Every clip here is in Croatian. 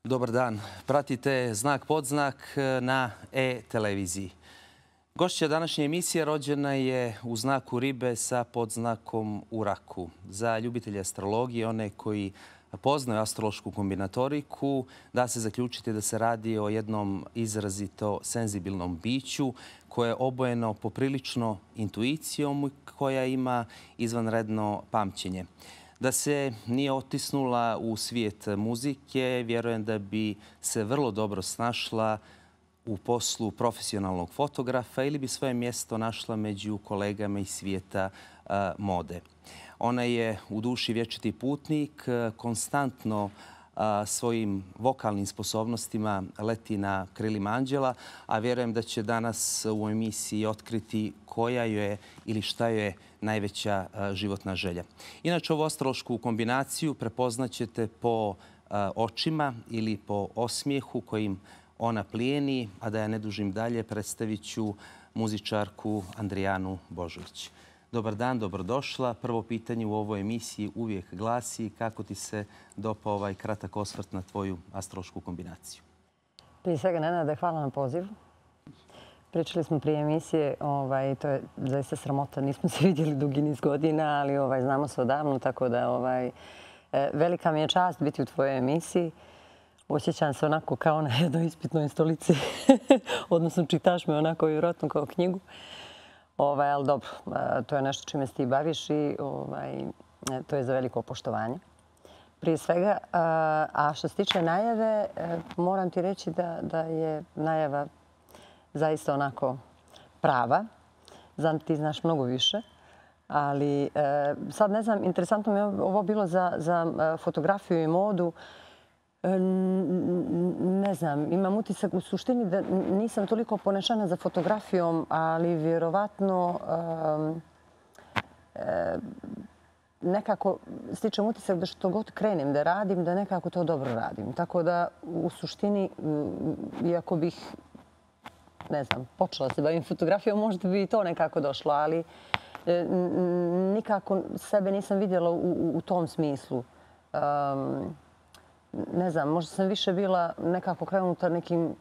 Dobar dan. Pratite Znak podznak na e-televiziji. Gošća današnje emisije rođena je u znaku ribe sa podznakom u raku. Za ljubitelje astrologije, one koji poznaju astrološku kombinatoriku, da se zaključiti da se radi o jednom izrazito senzibilnom biću koje je obojeno poprilično intuicijom i koja ima izvanredno pamćenje. Da se nije otisnula u svijet muzike, vjerujem da bi se vrlo dobro snašla u poslu profesionalnog fotografa ili bi svoje mjesto našla među kolegama iz svijeta mode. Ona je u duši vječiti putnik, konstantno svojim vokalnim sposobnostima leti na krilima anđela, a vjerujem da će danas u emisiji otkriti koja joj je ili šta joj je najveća životna želja. Inače, ovu astrološku kombinaciju prepoznaćete po očima ili po osmijehu kojim ona plijeni, a da ja ne dužim dalje, predstavit ću muzičarku Andrijanu Božović. Dobar dan, dobrodošla. Prvo pitanje u ovoj emisiji uvijek glasi: kako ti se dopao ovaj kratak osvrt na tvoju astrološku kombinaciju? Prije svega, Nenade, hvala na pozivu. Pričali smo prije emisije, to je zaista sramota. Nismo se vidjeli dugi niz godina, ali znamo se odavno, tako da velika mi je čast biti u tvojoj emisiji. Osjećam se onako kao na jednoj ispitnoj stolici, odnosno čitaš me onako vjerojatno kao knjigu. Ali dobro, to je nešto čime se ti baviš i to je za veliko poštovanje. Prije svega, a što se tiče najave, moram ti reći da je najava zaista onako prava. Znam ti znaš mnogo više, ali sad ne znam, interesantno mi je ovo bilo za fotografiju i modu. Ne znam, imam utisak u suštini da nisam toliko ponešana za fotografijom, ali vjerovatno nekako stičem utisak da što god krenem da radim, da nekako to dobro radim. Tako da u suštini, iako bih, ne znam, počela se bavim fotografijom, možda bi i to nekako došlo, ali nikako sebe nisam vidjela u tom smislu. Ne znam, možda sam više bila nekako krenuta nekim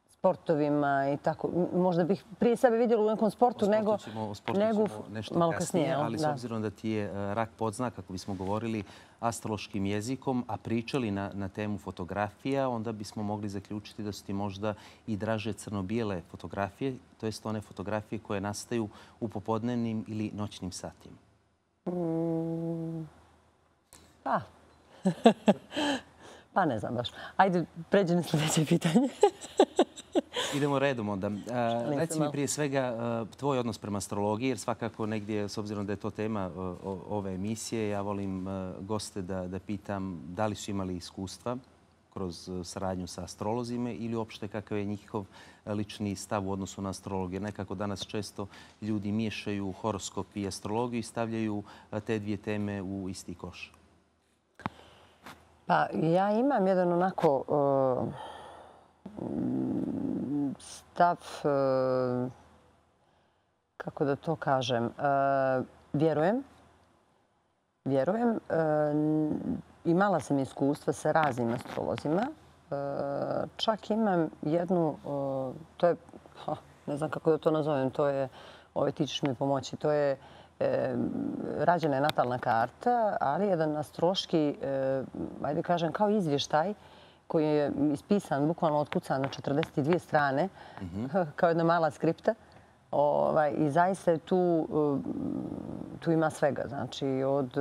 sportovima i tako. Možda bih prije sebe vidjela u nekom sportu nego malo kasnije. Ali s obzirom da ti je rak podznak, kako bismo govorili astrološkim jezikom, a pričali na temu fotografija, onda bismo mogli zaključiti da su ti možda i draže crno-bijele fotografije, to jest one fotografije koje nastaju u popodnevnim ili noćnim satima. Pa ne znam baš. Ajde, pređi na sljedeće pitanje. Idemo redom onda. Reci mi prije svega tvoj odnos prema astrologiji, jer svakako negdje, s obzirom da je to tema ove emisije, ja volim goste da pitam da li su imali iskustva kroz saradnju sa astrolozima ili uopšte kakav je njihov lični stav u odnosu na astrologiju. Nekako danas često ljudi miješaju horoskop i astrologiju i stavljaju te dvije teme u isti koš. Pa ja imam jedan onako stav, kako da to kažem, vjerujem. Imala sam iskustva sa raznim astrolozima. Čak imam jednu, to je, ne znam kako da to nazovem, to je, ti ćeš mi pomoći, to je rađena je natalna karta, ali jedan astrološki, ajde kažem, kao izvještaj koji je ispisan, bukvalno otkucan na 42 strane, kao jedna mala skripta. I zaista tu ima svega. Znači, od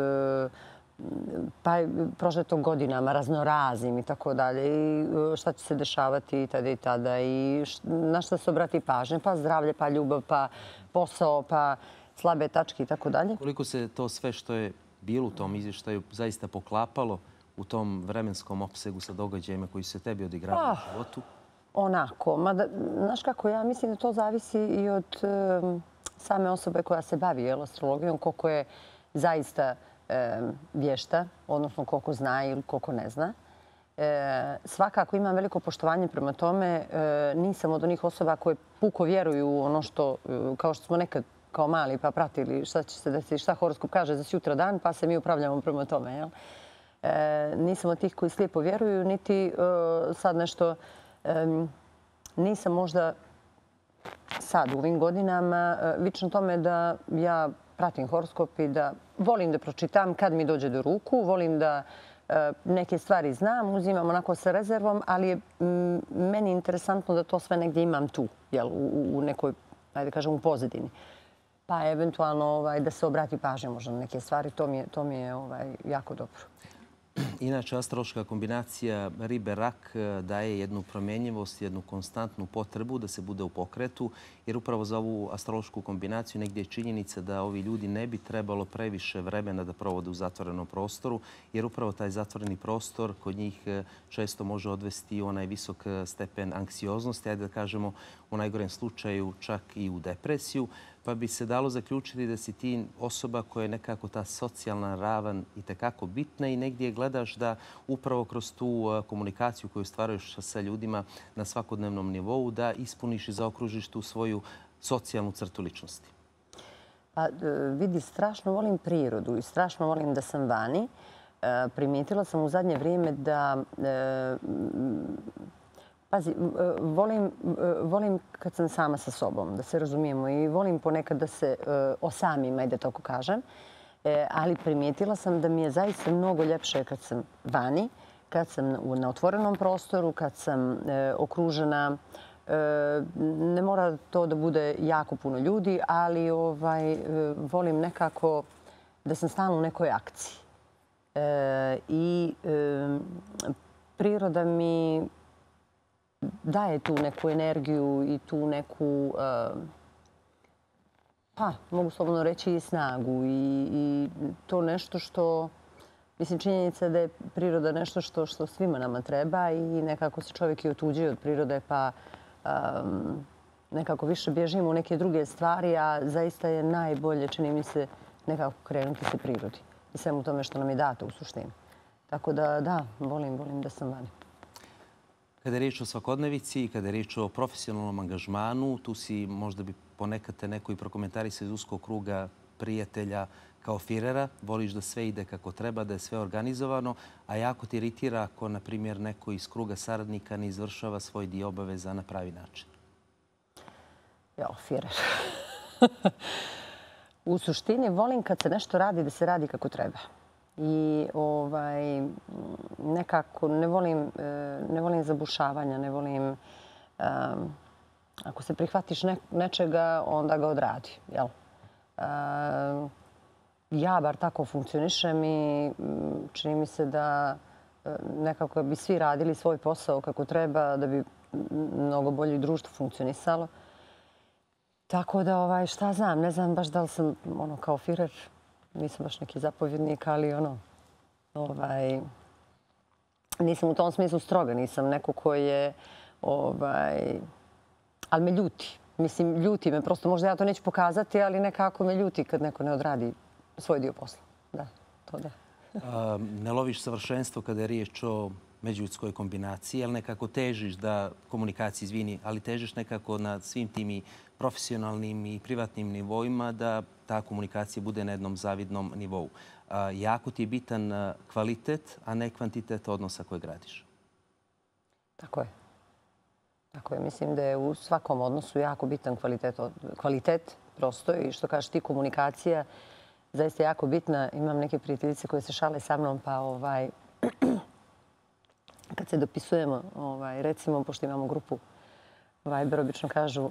prošletog godinama, raznoraznim i tako dalje. I šta će se dešavati tada i tada. I na šta se obrati pažnje. Pa zdravlje, pa ljubav, pa posao, pa slabe tačke i tako dalje. Koliko se to sve što je bilo u tom izvještaju zaista poklapalo u tom vremenskom opsegu sa događajima koji su se tebi odigravali u životu? Onako. Znaš kako, ja mislim da to zavisi i od same osobe koja se bavi astrologijom, koliko je zaista vješta, odnosno koliko zna ili koliko ne zna. Svakako imam veliko poštovanje prema tome. Nisam od onih osoba koje puko vjeruju u ono što, kao što smo nekad kao mali pa pratili šta će se desiti, šta horoskop kaže za sutra dan, pa se mi upravljamo prema tome. Nisam od tih koji slijepo vjeruju, niti sad nešto... Nisam možda sad u ovim godinama vična tome da ja pratim horoskop i da volim da pročitam kad mi dođe do ruku, volim da neke stvari znam, uzimam onako sa rezervom, ali je meni interesantno da to sve negdje imam tu, u nekoj, ajde kažem, u pozadini. Pa eventualno da se obrati pažnja možda na neke stvari, to mi je jako dobro. Inače, astrološka kombinacija ribe-rak daje jednu promjenjivost, jednu konstantnu potrebu da se bude u pokretu, jer upravo za ovu astrološku kombinaciju negdje je činjenica da ovi ljudi ne bi trebalo previše vremena da provode u zatvorenom prostoru, jer upravo taj zatvoreni prostor kod njih često može odvesti u onaj visok stepen anksioznosti, ajde da kažemo u najgorem slučaju čak i u depresiju. Pa bi se dalo zaključiti da si ti osoba koja je nekako ta socijalna ravan i tekako bitna i negdje gledaš da upravo kroz tu komunikaciju koju stvaruješ sa ljudima na svakodnevnom nivou da ispuniš i zaokružiš tu svoju socijalnu crtu ličnosti. Pa vidi, strašno volim prirodu i strašno volim da sam vani. Primijetila sam u zadnje vrijeme da... Pazi, volim kad sam sama sa sobom, da se razumijemo, i volim ponekad da se osamim, ajde tako kažem. Ali primijetila sam da mi je zaista mnogo ljepše kad sam vani, kad sam na otvorenom prostoru, kad sam okružena. Ne mora to da bude jako puno ljudi, ali volim nekako da sam stalno u nekoj akciji. I priroda mi daje tu neku energiju i tu neku, pa mogu slobodno reći, i snagu. I to nešto što, mislim, činjenica da je priroda nešto što svima nama treba i nekako se čovjek i otuđuje od prirode, pa nekako više bježimo u neke druge stvari, a zaista je najbolje, čini mi se, nekako krenuti se prirodi i svemu tome što nam je dato u suštini. Tako da, volim da sam vani. Kada je riječ o svakodnevici i kada je riječ o profesionalnom angažmanu, tu si možda bi ponekad te neko i prokomentarisao iz uskog kruga prijatelja kao firera. Voliš da sve ide kako treba, da je sve organizovano, a jako ti iritira ako, na primjer, neko iz kruga saradnika ne izvršava svoj dio obaveza na pravi način. Jao, firer. U suštini volim kad se nešto radi da se radi kako treba. I nekako ne volim zabušavanja, ne volim... Ako se prihvatiš nečega, onda ga odradi. Ja bar tako funkcionišem i čini mi se da nekako bi svi radili svoj posao kako treba, da bi mnogo bolje društvo funkcionisalo. Tako da, šta znam, ne znam baš da li sam kao firer. Nisam baš neki zapovjednik, ali nisam u tom smislu stroga. Nisam neko koji je... Ali me ljuti. Mislim, ljuti me. Prosto možda ja to neću pokazati, ali nekako me ljuti kad neko ne odradi svoj dio posla. Da, to da. Ne loviš savršenstvo kada je riječ o međuljudskoj kombinaciji, ali nekako težiš da komunikaciji, izvini, ali težiš nekako na svim tim i profesionalnim i privatnim nivoima da ta komunikacija bude na jednom zavidnom nivou. Jako ti je bitan kvalitet, a ne kvantitet odnosa koje gradiš. Tako je. Tako je. Mislim da je u svakom odnosu jako bitan kvalitet prosto i što kažeš ti, komunikacija zaista jako bitna. Imam neke prijateljice koje se šale sa mnom, pa kad se dopisujemo, recimo, pošto imamo grupu Viber, obično kažu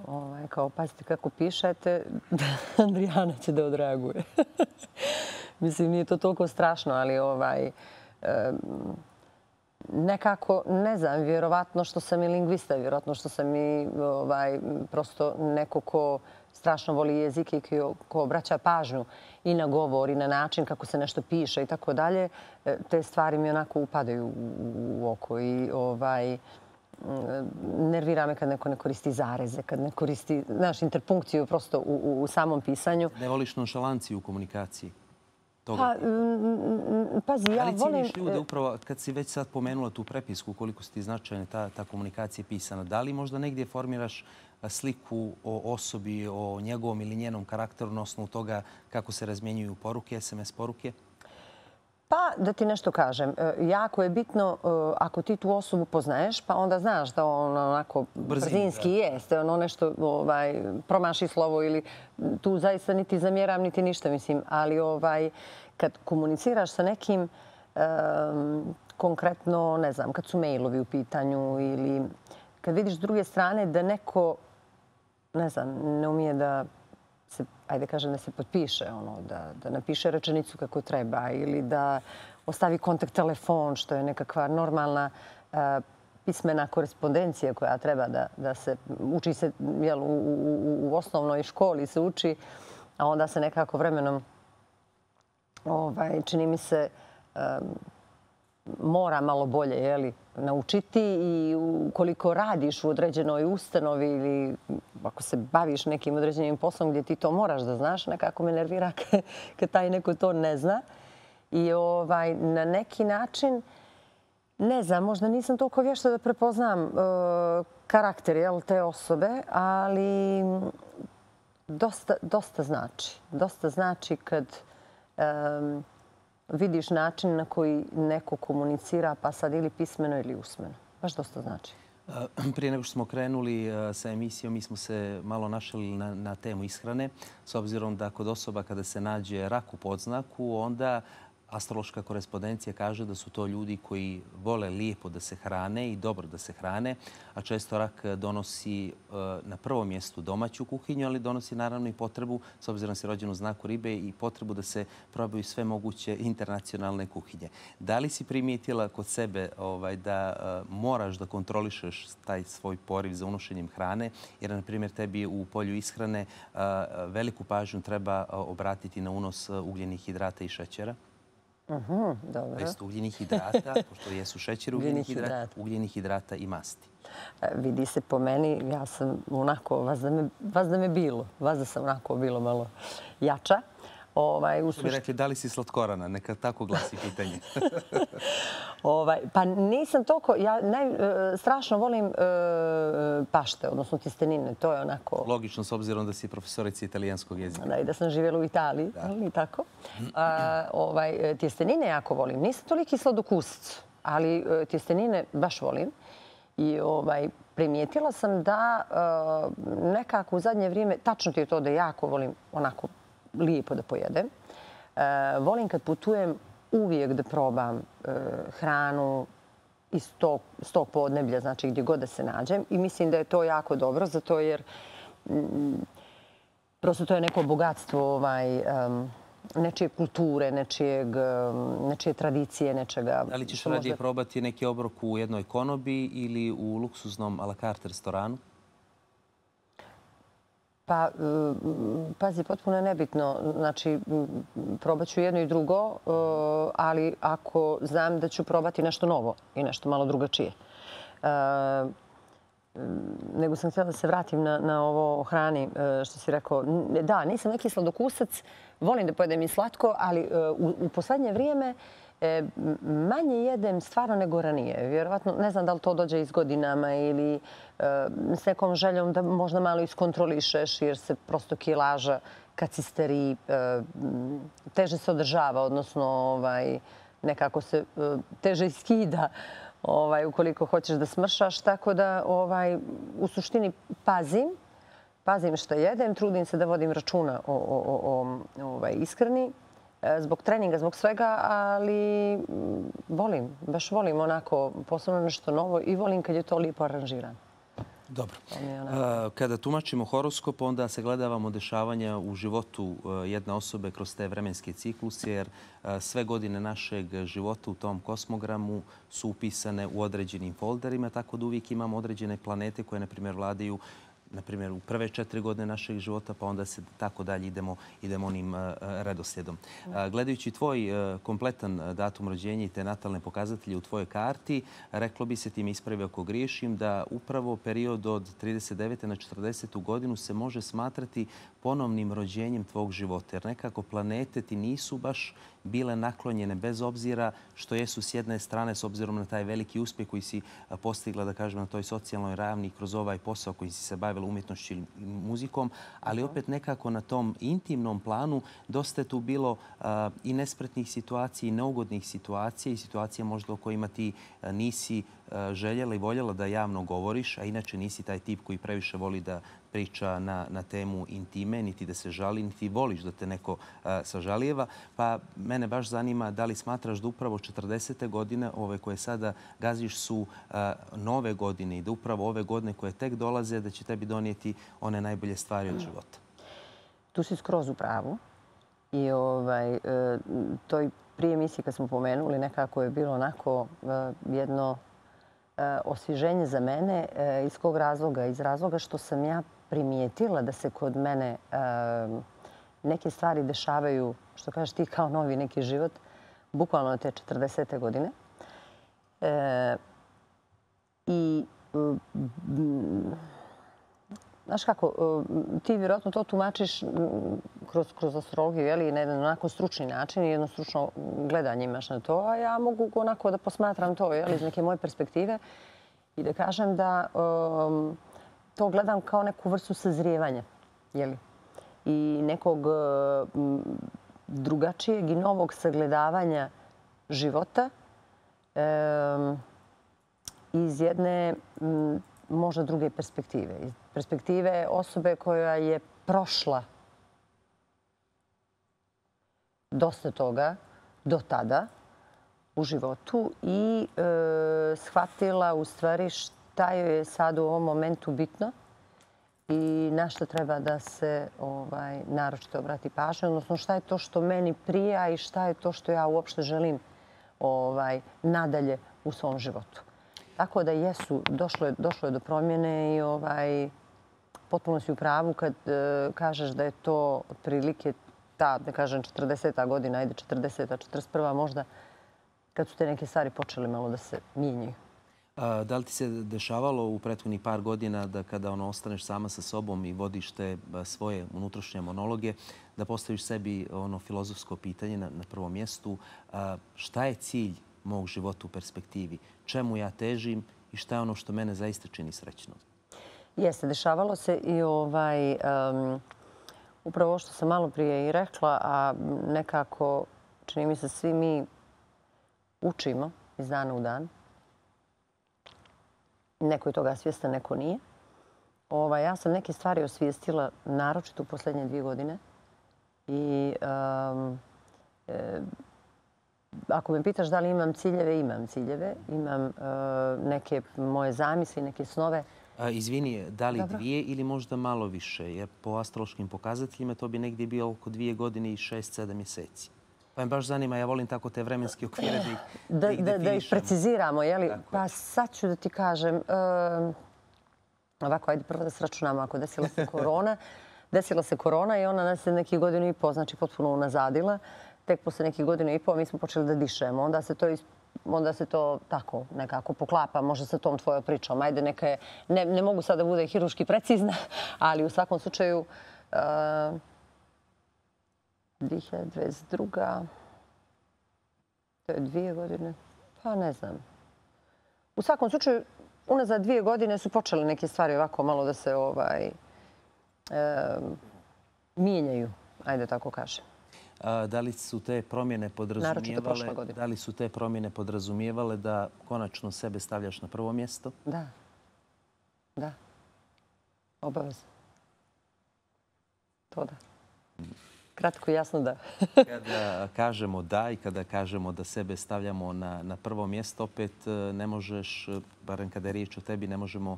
kao, pazite kako pišete, Andrijana će da odreaguje. Mislim, nije to toliko strašno, ali nekako, ne znam, vjerovatno što sam i lingvista, vjerovatno što sam i prosto neko ko strašno voli jezik i ko obraća pažnju i na govor i na način kako se nešto piše i tako dalje. Te stvari mi onako upadaju u oko i nervira me kad neko ne koristi zareze, kad ne koristi interpunkciju prosto u samom pisanju. Ne voliš nonšalanciju u komunikaciji? Pazi, ja volim... Ali cijeniš ljude upravo, kad si već sad pomenula tu prepisku, koliko si ti značajna ta komunikacija pisana, da li možda negdje formiraš sliku o osobi, o njegovom ili njenom karakteru na osnovu toga kako se razmjenjuju poruke, SMS poruke? Pa da ti nešto kažem, jako je bitno ako ti tu osobu poznaješ, pa onda znaš da on onako brzinski jeste, ono nešto promaši slovo ili tu zaista niti zamjeram niti ništa, mislim. Ali kad komuniciraš sa nekim, konkretno, ne znam, kad su mailovi u pitanju ili kad vidiš s druge strane da neko, ne znam, ne umije da se, ajde kažem, da se potpiše, da napiše rečenicu kako treba ili da ostavi kontakt telefon, što je nekakva normalna pismena korespondencija koja treba da se uči se u osnovnoj školi se uči, a onda se nekako vremenom čini mi se mora malo bolje naučiti i ukoliko radiš u određenoj ustanovi ili ako se baviš nekim određenim poslom gdje ti to moraš da znaš, nekako me nervira kad taj neko to ne zna. I na neki način, ne znam, možda nisam toliko vješta da prepoznam karakter te osobe, ali dosta znači. Dosta znači kad vidiš način na koji neko komunicira, pa sad ili pismeno ili usmeno. Baš dosta znači. Prije nego što smo krenuli sa emisijom, mi smo se malo našli na temu ishrane. S obzirom da kod osoba kada se nađe rak u podznaku, onda astrološka korespondencija kaže da su to ljudi koji vole lijepo da se hrane i dobro da se hrane, a često rak donosi na prvom mjestu domaću kuhinju, ali donosi naravno i potrebu, s obzirom da si rođen u znaku ribe, i potrebu da se probaju sve moguće internacionalne kuhinje. Da li si primijetila kod sebe da moraš da kontrolišeš taj svoj poriv za unošenjem hrane, jer, na primjer, tebi u polju ishrane veliku pažnju treba obratiti na unos ugljenih hidrata i šećera? Dobro. Jest ugljenih hidrata, pošto jesu šećer ugljenih hidrata i masti. Vidi se po meni, ja sam onako, vas da me bilo. Vas da sam onako bilo malo jača. Što bi rekli, da li si slatkorana? Neka tako glasi pitanje. Pa nisam toliko, ja strašno volim pašte, odnosno tjestenine. To je onako... Logično, s obzirom da si profesorica italijanskog jezika. Da, i da sam živjela u Italiji, ali tako. Tjestenine jako volim. Nisam toliki sladokusac, ali tjestenine baš volim. I primijetila sam da nekako u zadnje vrijeme, tačno ti je to da jako volim onako lijepo da pojedem. Volim kad putujem uvijek da probam hranu iz tog podneblja, znači gdje god da se nađem. I mislim da je to jako dobro, zato jer prosto to je neko bogatstvo nečije kulture, nečije tradicije, nečega... Da li ćeš radije probati neki obrok u jednoj konobi ili u luksuznom a la carte restoranu? Pa, pazi, potpuno je nebitno. Znači, probat ću jedno i drugo, ali ako znam da ću probati nešto novo i nešto malo drugačije. Nego sam htjela da se vratim na ovo o hrani, što si rekao. Da, nisam neki sladokusac, volim da pojedem i slatko, ali u poslednje vrijeme manje jedem stvarno nego ranije. Vjerovatno, ne znam da li to dođe iz godinama ili s nekom željom da možda malo iskontrolišeš jer se prosto kilaža kad si stariji teže se održava, odnosno nekako se teže skida ukoliko hoćeš da smršaš. Tako da u suštini pazim što jedem, trudim se da vodim računa o ishrani. Zbog treninga, zbog svega, ali volim, baš volim onako posebno nešto novo i volim kad je to lijepo aranžirano. Dobro. Kada tumačimo horoskop, onda se gledavamo dešavanja u životu jedne osobe kroz te vremenske cikluse, jer sve godine našeg života u tom kosmogramu su upisane u određenim folderima, tako da uvijek imamo određene planete koje, na primjer, vladaju u prve 4 godine našeg života, pa onda se tako dalje idemo onim redoslijedom. Gledajući tvoj kompletan datum rođenja i te natalne pokazatelje u tvojoj karti, reklo bi se, ti mi ispravi ako griješim, da upravo period od 39. na 40. godinu se može smatrati ponovnim rođenjem tvog života. Jer nekako planete ti nisu baš bile naklonjene, bez obzira što jesu s jedne strane, s obzirom na taj veliki uspjeh koji si postigla, da kažem, na toj socijalnoj ravni kroz ovaj posao koji si se bavila bavila umjetnošću ili muzikom, ali opet nekako na tom intimnom planu dosta je tu bilo i nespretnih situacija i neugodnih situacija i situacija možda o kojima ti nisi željela i voljela da javno govoriš, a inače nisi taj tip koji previše voli da priča na temu intime, niti da se žali, niti voliš da te neko sažalijeva. Pa mene baš zanima da li smatraš da upravo 40. godine, ove koje sada gaziš, su nove godine i da upravo ove godine koje tek dolaze, da će tebi donijeti one najbolje stvari od života. Tu si skroz u pravu. I toj prije emisiji kad smo pomenuli, nekako je bilo onako jedno osvježenje za mene. Iz kog razloga? Iz razloga što sam ja primijetila da se kod mene neke stvari dešavaju, što kažeš ti, kao novi neki život, bukvalno te 40. godine. I znaš kako, ti vjerojatno to tumačiš kroz astrologiju, na jedan onako stručni način i jedno stručno gledanje imaš na to, a ja mogu onako da posmatram to iz neke moje perspektive i da kažem da to gledam kao neku vrstu sazrijevanja i nekog drugačijeg i novog sagledavanja života iz jedne možda druge perspektive. Iz perspektive osobe koja je prošla dosta toga do tada u životu i shvatila u stvari šta joj je sad u ovom momentu bitno i na što treba da se naročito obrati pažnja, odnosno šta je to što meni prija i šta je to što ja uopšte želim nadalje u svom životu. Tako da jesu, došlo je do promjene i potpuno si u pravu kad kažeš da je to otprilike ta, da kažem, 40. godina, ajde 40. 41. možda, kad su te neke stvari počele malo da se mijenjaju. Da li ti se dešavalo u prethodnih par godina da kada ostaneš sama sa sobom i vodiš te svoje unutrašnje monologe, da postaviš sebi filozofsko pitanje na prvom mjestu, šta je cilj mog života u perspektivi? Čemu ja težim i šta je ono što mene zaista čini srećnom? Jeste, dešavalo se i upravo ovo što sam malo prije i rekla, a nekako čini mi se svi mi učimo iz dana u dan. Neko je toga svjestan, neko nije. Ja sam neke stvari osvijestila naročito u posljednje 2 godine. I ako me pitaš da li imam ciljeve, imam ciljeve. Imam neke moje zamisli, neke snove. Izvini, da li 2 ili možda malo više? Jer po astrološkim pokazateljima to bi negdje bilo oko 2 godine i 6-7 mjeseci. Pa me baš zanima, ja volim tako te vremenske okvire da ih definišemo. Da ih preciziramo, jeli? Pa sad ću da ti kažem, ovako, ajde prvo da se računamo, ako desila se korona i ona nas je neki 1,5 godine, znači potpuno unazadila. Tek posle nekih 1,5 godine mi smo počeli da dišemo. Onda se to tako nekako poklapa, možda sa tom tvojom pričom. Ajde, neka je, ne mogu sad da bude hirurški precizna, ali u svakom slučaju 2022. To je 2 godine. Pa ne znam. U svakom slučaju, unazad 2 godine su počele neke stvari ovako malo da se mijenjaju, ajde tako kažem. Da li su te promjene podrazumijevale da konačno sebe stavljaš na prvo mjesto? Da. Da. Obavezno. To da. Kratko i jasno da. Kada kažemo da i kada kažemo da sebe stavljamo na prvo mjesto, opet ne možeš, barem kada je riječ o tebi, ne možemo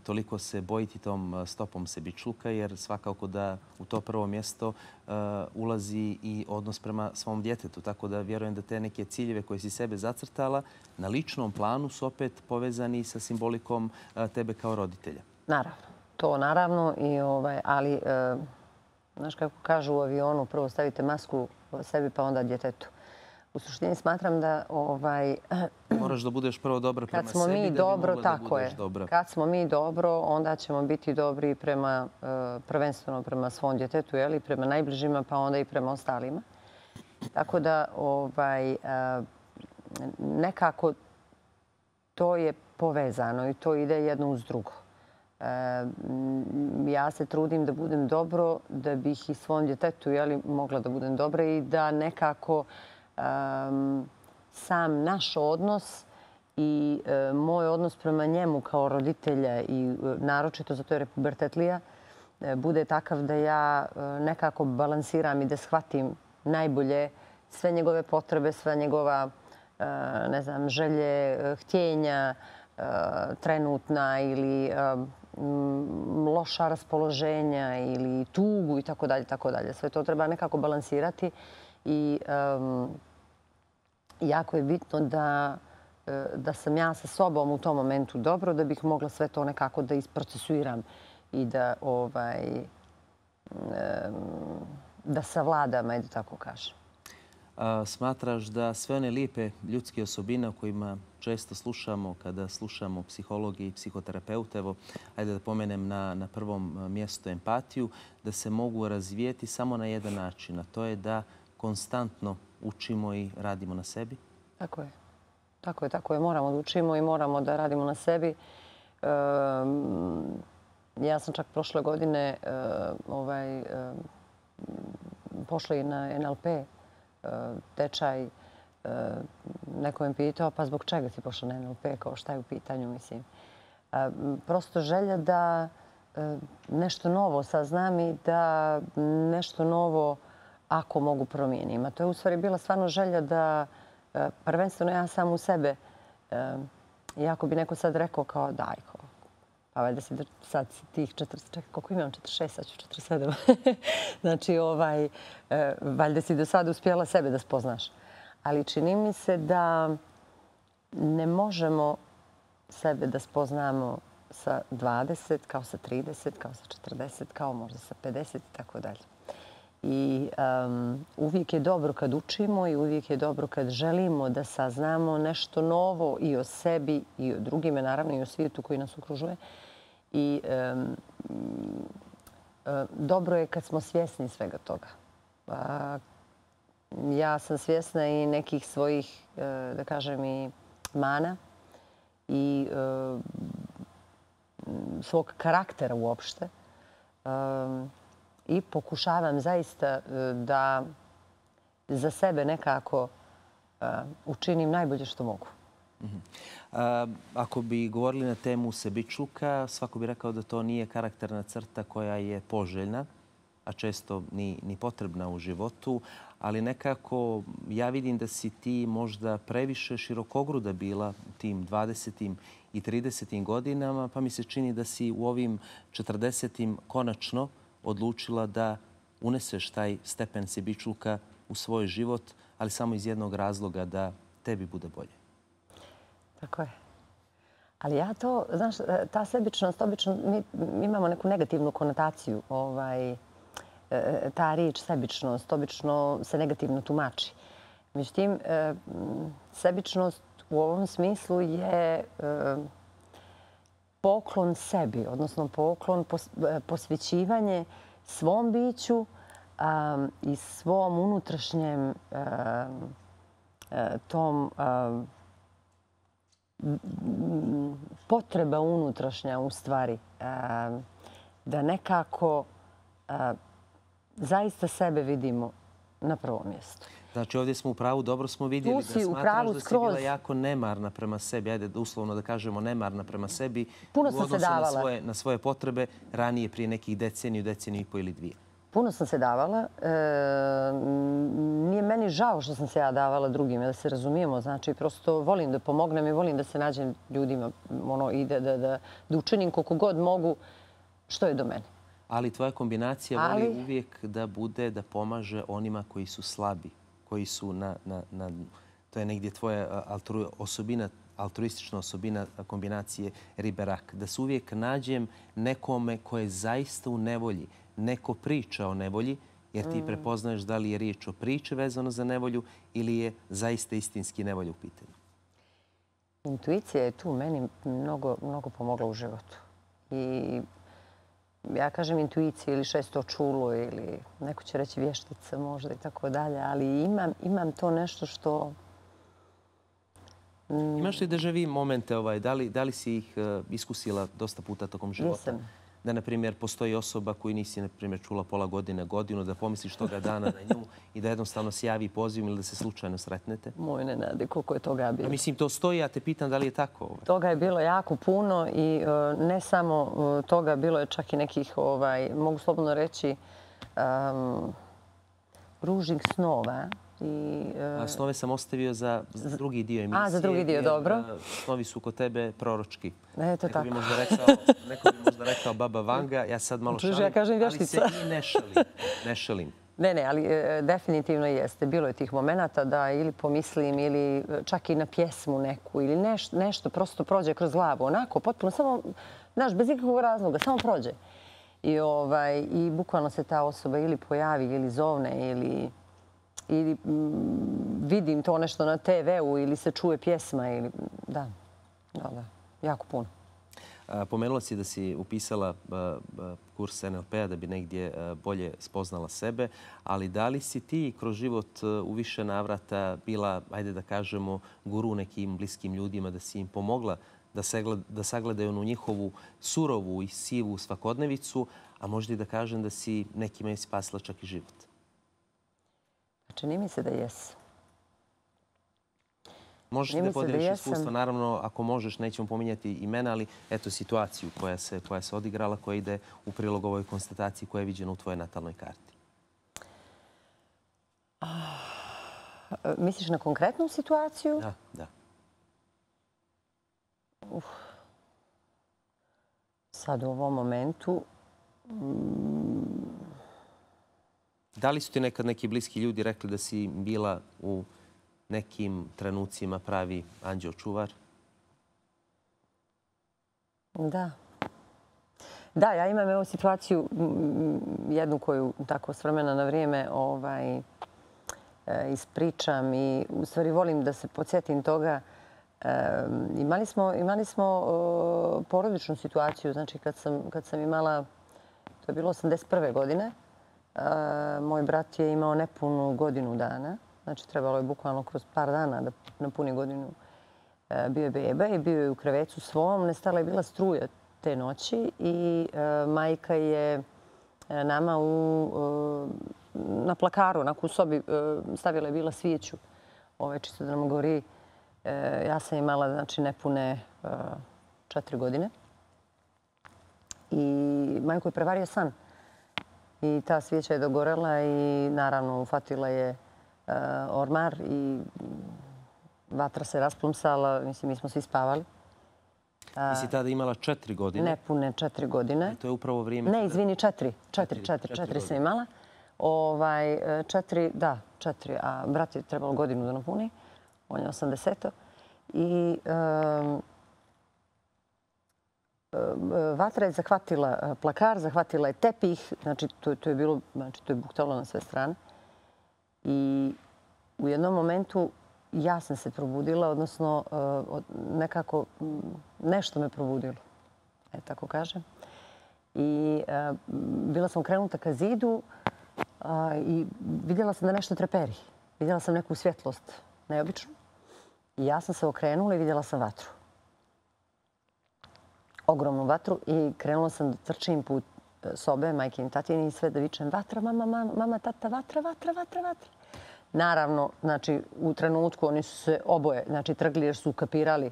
toliko se bojiti tom stopom sebičluka, jer svakako da u to prvo mjesto ulazi i odnos prema svom djetetu. Tako da vjerujem da te neke ciljeve koje si sebe zacrtala na ličnom planu su opet povezani sa simbolikom tebe kao roditelja. Naravno. To naravno, ali znaš kako kažu u avionu, prvo stavite masku sebi pa onda djetetu. U suštini smatram da moraš da budeš prvo dobra prema sebi da bi mogla da budeš dobra. Kad smo mi dobro, onda ćemo biti dobri prvenstveno prema svom djetetu, prema najbližima pa onda i prema ostalima. Tako da nekako to je povezano i to ide jedno uz drugo. Ja se trudim da budem dobro, da bih i svom djetetu mogla da budem dobra i da nekako sam naš odnos i moj odnos prema njemu kao roditelja i naročito zato jer je pubertetlija, bude takav da ja nekako balansiram i da shvatim najbolje sve njegove potrebe, sve njegova želje, htjenja, trenutna ili loša raspoloženja ili tugu i tako dalje, tako dalje. Sve to treba nekako balansirati i jako je bitno da sam ja sa sobom u tom momentu dobro, da bih mogla sve to nekako da isprocesuiram i da savladam, ajde tako kažem. Smatraš da sve one lijepe ljudske osobine o kojima često slušamo kada slušamo psihologije i psihoterapeute, evo, ajde da pomenem na prvom mjestu empatiju, da se mogu razvijeti samo na jedan način, a to je da konstantno učimo i radimo na sebi? Tako je. Tako je. Moramo da učimo i moramo da radimo na sebi. Ja sam čak prošle godine pošla i na NLP tečaj. Neko me pitao, pa zbog čega si pošla na NLP, kao šta je u pitanju, mislim. Prosto želja da nešto novo saznam i da nešto novo, ako mogu, promijenim. A to je u stvari bila stvarno želja da prvenstveno ja sam u sebe, iako bi neko sad rekao kao daj, pa valjda si sad tih 40, čekaj, koliko imam? 46, sad ću 47. Znači, valjda si do sada uspjela sebe da spoznaš. Ali čini mi se da ne možemo sebe da spoznamo sa 20, kao sa 30, kao sa 40, kao možda sa 50 i tako dalje. I uvijek je dobro kad učimo i uvijek je dobro kad želimo da saznamo nešto novo i o sebi i o drugime, naravno i o svijetu koji nas okružuje. I dobro je kad smo svjesni svega toga. Ja sam svjesna i nekih svojih, da kažem, i mana i svog karaktera uopšte. I pokušavam zaista da za sebe nekako učinim najbolje što mogu. Ako bi govorili na temu sebičluka, svako bi rekao da to nije karakterna crta koja je poželjna, a često ni potrebna u životu, ali nekako ja vidim da si ti možda previše širokogruda bila tim 20. i 30. godinama, pa mi se čini da si u ovim 40. konačno odlučila da uneseš taj stepen sebičluka u svoj život, ali samo iz jednog razloga, da tebi bude bolje. Tako je. Ali ja to, znaš, ta sebičnost, obično mi imamo neku negativnu konotaciju. Ta riječ sebičnost obično se negativno tumači. Međutim, sebičnost u ovom smislu je poklon sebi, odnosno poklon, posvećivanje svom biću i svom unutrašnjem tom potreba unutrašnja u stvari da nekako zaista sebe vidimo na prvom mjestu. Znači ovdje smo u pravu, dobro smo vidjeli da smatraš da si bila jako nemarna prema sebi, ajde uslovno da kažemo nemarna prema sebi, puno sam se davala na svoje potrebe ranije prije nekih deceniju i pol ili dvije. Puno sam se davala. Nije meni žao što sam se ja davala drugima, da se razumijemo. Znači, prosto volim da pomognem i volim da se nađem ljudima i da učinim koliko god mogu što je do mene. Ali tvoja kombinacija voli uvijek da bude, da pomaže onima koji su slabi, koji su to je negdje tvoja osobina, altruistična osobina kombinacije ribe-rak. Da se uvijek nađem nekome ko je zaista u nevolji. Neko priča o nevolji, jer ti prepoznaješ da li je riječ o priči vezano za nevolju ili je zaista istinski nevolja u pitanju. Intuicija je tu meni mnogo pomogla u životu. I ja kažem intuicija ili šesto čulo ili neko će reći vještica možda i tako dalje, ali imam to nešto što Imaš li deja vu momente, da li si ih iskusila dosta puta tokom života? Jesam. Da, na primjer, postoji osoba koju nisi, na primjer, čula pola godine, godinu, da pomisliš toga dana na nju i da jednostavno se javi poziv ili da se slučajno sretnete? Moj Nenade, koliko je toga bilo. Mislim, to stoji, ja te pitam da li je tako? Toga je bilo jako puno i ne samo toga, bilo je čak i nekih, mogu slobodno reći, ružnih snova. Snove sam ostavio za drugi dio emisije. Za drugi dio, dobro. Snovi su kod tebe proročki. Eto tako. Neko bi možda rekao Baba Vanga, ja sad malo šalim, ali se i ne šalim. Ne, ali definitivno jeste. Bilo je tih momenata da ili pomislim ili čak i na pjesmu neku ili nešto prosto prođe kroz glavu. Onako, potpuno samo, znaš, bez ikakvog razloga, samo prođe. I bukvalno se ta osoba ili pojavi ili zovne ili vidim to nešto na TV-u ili se čuje pjesma ili da, jako puno. Pomenula si da si upisala kurs NLP-a da bi negdje bolje spoznala sebe, ali da li si ti kroz život u više navrata bila, ajde da kažemo, guru nekim bliskim ljudima, da si im pomogla da sagledaju onu njihovu surovu i sivu svakodnevicu, a možda i da kažem da si nekima i spasila čak i život? Čini mi se da jesu. Možeš da podeliš iskustva, naravno, ako možeš, nećemo pominjati imena, ali eto situaciju koja se odigrala, koja ide u prilog ovoj konstataciji koja je viđena u tvojoj natalnoj karti. Misliš na konkretnu situaciju? Da. Sad u ovom momentu... Da li su ti nekad neki bliski ljudi rekli da si bila u nekim trenucima pravi anđeo čuvar? Da. Da, ja imam evo situaciju, jednu koju tako s vremena na vrijeme ispričam i u stvari volim da se podsjetim toga. Imali smo porodičnu situaciju, znači kad sam imala, to je bilo 81. godine, moj brat je imao nepunu godinu dana. Znači, trebalo je bukvalno kroz par dana da napuni godinu. Bio je beba i bio je u krevecu svom. Nestala je bila struja te noći i majka je nama na plakaru, onako u sobi, stavila je bila svijeću. Čisto da nam gori. Ja sam imala, znači, nepune 4 godine. I majku je prevario san. I ta svijeća je dogorela i naravno ufatila je ormar i vatra se rasplumsala. Mislim, mi smo svi spavali. Ti si tada imala 4 godine? Nepune 4 godine. I to je upravo vrijeme... Ne, izvini, 4 sam imala. 4, da, 4. A brat je trebalo godinu da napuni. On je 80. I vatra je zahvatila plakar, zahvatila je tepih. Znači, to je bilo, znači, to je buktalo na sve strane. I u jednom momentu ja sam se probudila, odnosno nekako nešto me probudilo, tako kažem. I bila sam okrenuta ka zidu i vidjela sam da nešto treperi. Vidjela sam neku svjetlost, neobičnu. I ja sam se okrenula i vidjela sam vatru. Ogromnu vatru i krenula sam da trčim put sobe, majke i tatine i sve da vičem vatra, mama, tata, vatra. Naravno, znači, u trenutku oni su se oboje, znači, trgli jer su ukapirali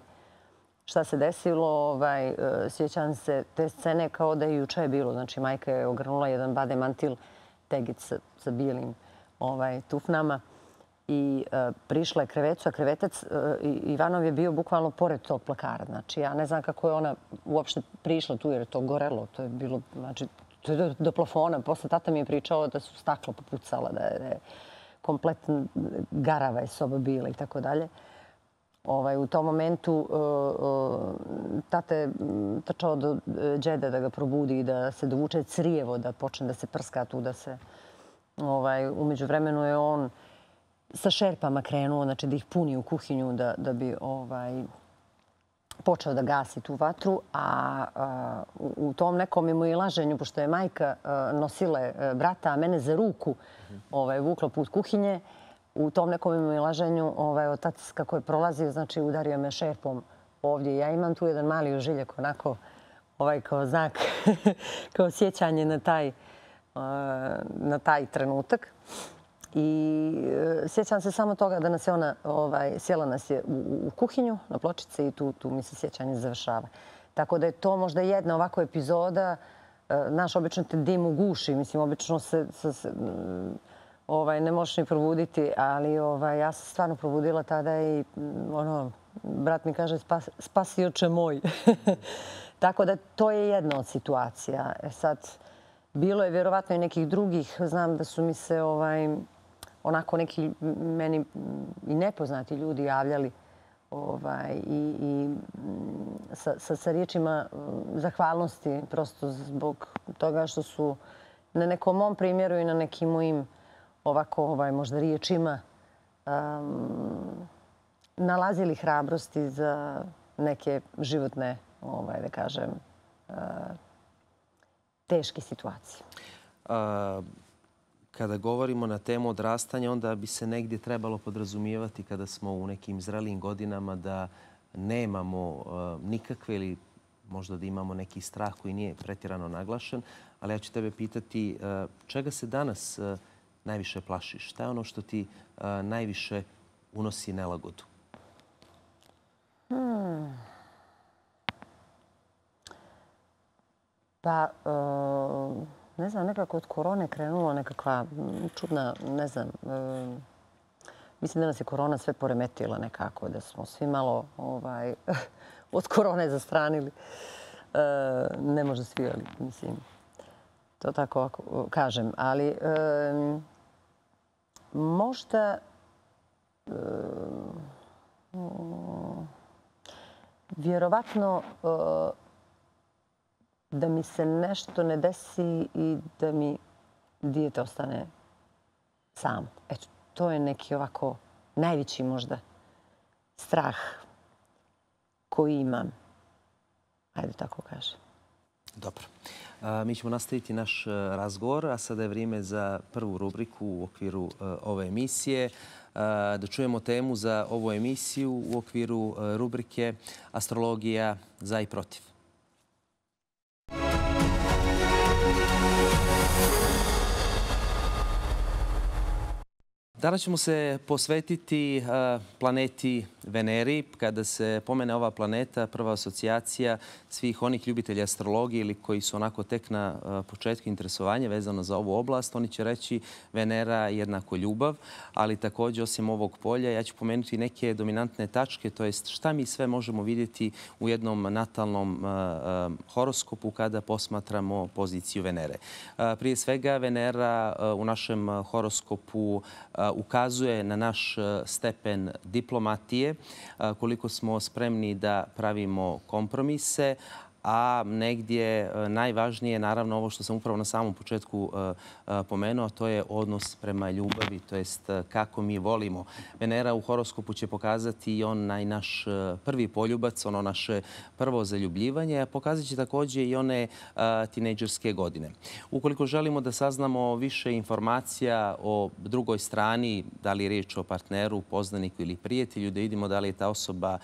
šta se desilo. Sjećam se te scene kao da je juče bilo. Znači, majka je ogrnula jedan bade mantil, tegic sa bijelim tufnama i prišla je krevecu, a krevetec Ivanov je bio bukvalno pored tog plakara. Znači, ja ne znam kako je ona uopšte prišla tu jer je to gorelo. To je bilo, znači, to je do plafona. Posle tata mi je pričao da su staklo popucala, da je kompletno garava je soba bila i tako dalje. U tom momentu tata je trčao do džede da ga probudi i da se dovuče crijevo, da počne da se prska tu, da se... Umeđu vremenu je on sa šerpama krenuo, znači da ih puni u kuhinju da bi počeo da gasi tu vatru, a u tom nekom mimoilaženju, pošto je majka nosila brata, a mene za ruku vukla put kuhinje, u tom nekom imilaženju otac kako je prolazio, znači udario me šerpom ovdje. Ja imam tu jedan mali ožiljak onako kao znak, kao sjećanje na taj trenutak. I sjećam se samo toga da nas je ona, sjela nas je u kuhinju na pločice i tu mi se sjećanje završava. Tako da je to možda jedna ovako epizoda. Naš obično te dim uguši, mislim, obično se ne možeš ni probuditi, ali ja sam stvarno probudila tada i brat mi kaže spasioče moj. Tako da to je jedna od situacija. Sad, bilo je vjerovatno i nekih drugih. Znam da su mi se onako neki meni i nepoznati ljudi javljali i sa riječima zahvalnosti prosto zbog toga što su na nekom mom primjeru i na nekim mojim ovako možda riječima nalazili hrabrosti za neke životne, da kažem, teške situacije. Kada govorimo na temu odrastanja, onda bi se negdje trebalo podrazumijevati kada smo u nekim zrelijim godinama da nemamo nikakve ili možda da imamo neki strah koji nije pretjerano naglašen. Ali ja ću tebe pitati čega se danas najviše plašiš? Šta je ono što ti najviše unosi nelagodu? Pa, ne znam, nekako od korone krenula nekakva čudna, ne znam, mislim da nas je korona sve poremetila nekako, da smo svi malo od korone zastranili. Ne možda svi, ali mislim, to tako kažem. Ali možda vjerovatno da mi se nešto ne desi i da mi dijete ostane sam. Eto, to je neki ovako najveći možda strah koji imam. Ajde tako kažem. Dobro. Mi ćemo nastaviti naš razgovor, a sada je vrijeme za prvu rubriku u okviru ove emisije. Da čujemo temu za ovu emisiju u okviru rubrike Astrologija za i protiv. Danas ćemo se posvetiti planeti Veneri. Kada se pomene ova planeta, prva asocijacija svih onih ljubitelja astrologije ili koji su onako tek na početku interesovanja vezano za ovu oblast, oni će reći Venera jednako ljubav, ali također osim ovog polja ja ću pomenuti neke dominantne tačke, to jest šta mi sve možemo vidjeti u jednom natalnom horoskopu kada posmatramo poziciju Venere. Prije svega Venera u našem horoskopu ukazuje na naš stepen diplomatije, koliko smo spremni da pravimo kompromise, a negdje najvažnije je naravno ovo što sam upravo na samom početku pomenuo, to je odnos prema ljubavi, to jest kako mi volimo. Venera u horoskopu će pokazati i onaj naš prvi poljubac, ono naše prvo zaljubljivanje, a pokazat će također i one tinejdžerske godine. Ukoliko želimo da saznamo više informacija o drugoj strani, da li je riječ o partneru, poznaniku ili prijatelju, da vidimo da li je ta osoba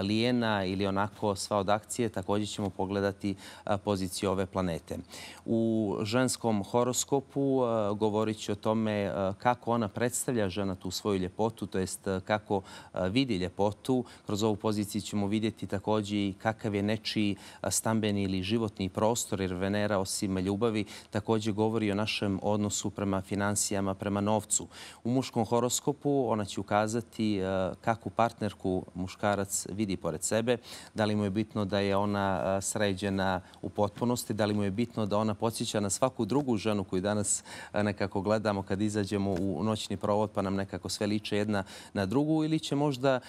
lijena ili onako sva od akcije, također ćemo pogledati poziciju ove planete. U ženskom horoskopu govorit ću o tome kako ona predstavlja žena tu svoju ljepotu, to jest kako vidi ljepotu. Kroz ovu poziciju ćemo vidjeti također i kakav je nečiji stambeni ili životni prostor, jer Venera osim ljubavi također govori o našem odnosu prema financijama, prema novcu. U muškom horoskopu ona će ukazati kakvu partnerku muškarac vidi pored sebe, da li mu je bitno da je ona sređena u potpunosti, da li mu je bitno da ona podsjeća na svaku drugu ženu koju danas nekako gledamo kad izađemo u noćni provod pa nam nekako sve liče jedna na drugu, ili će možda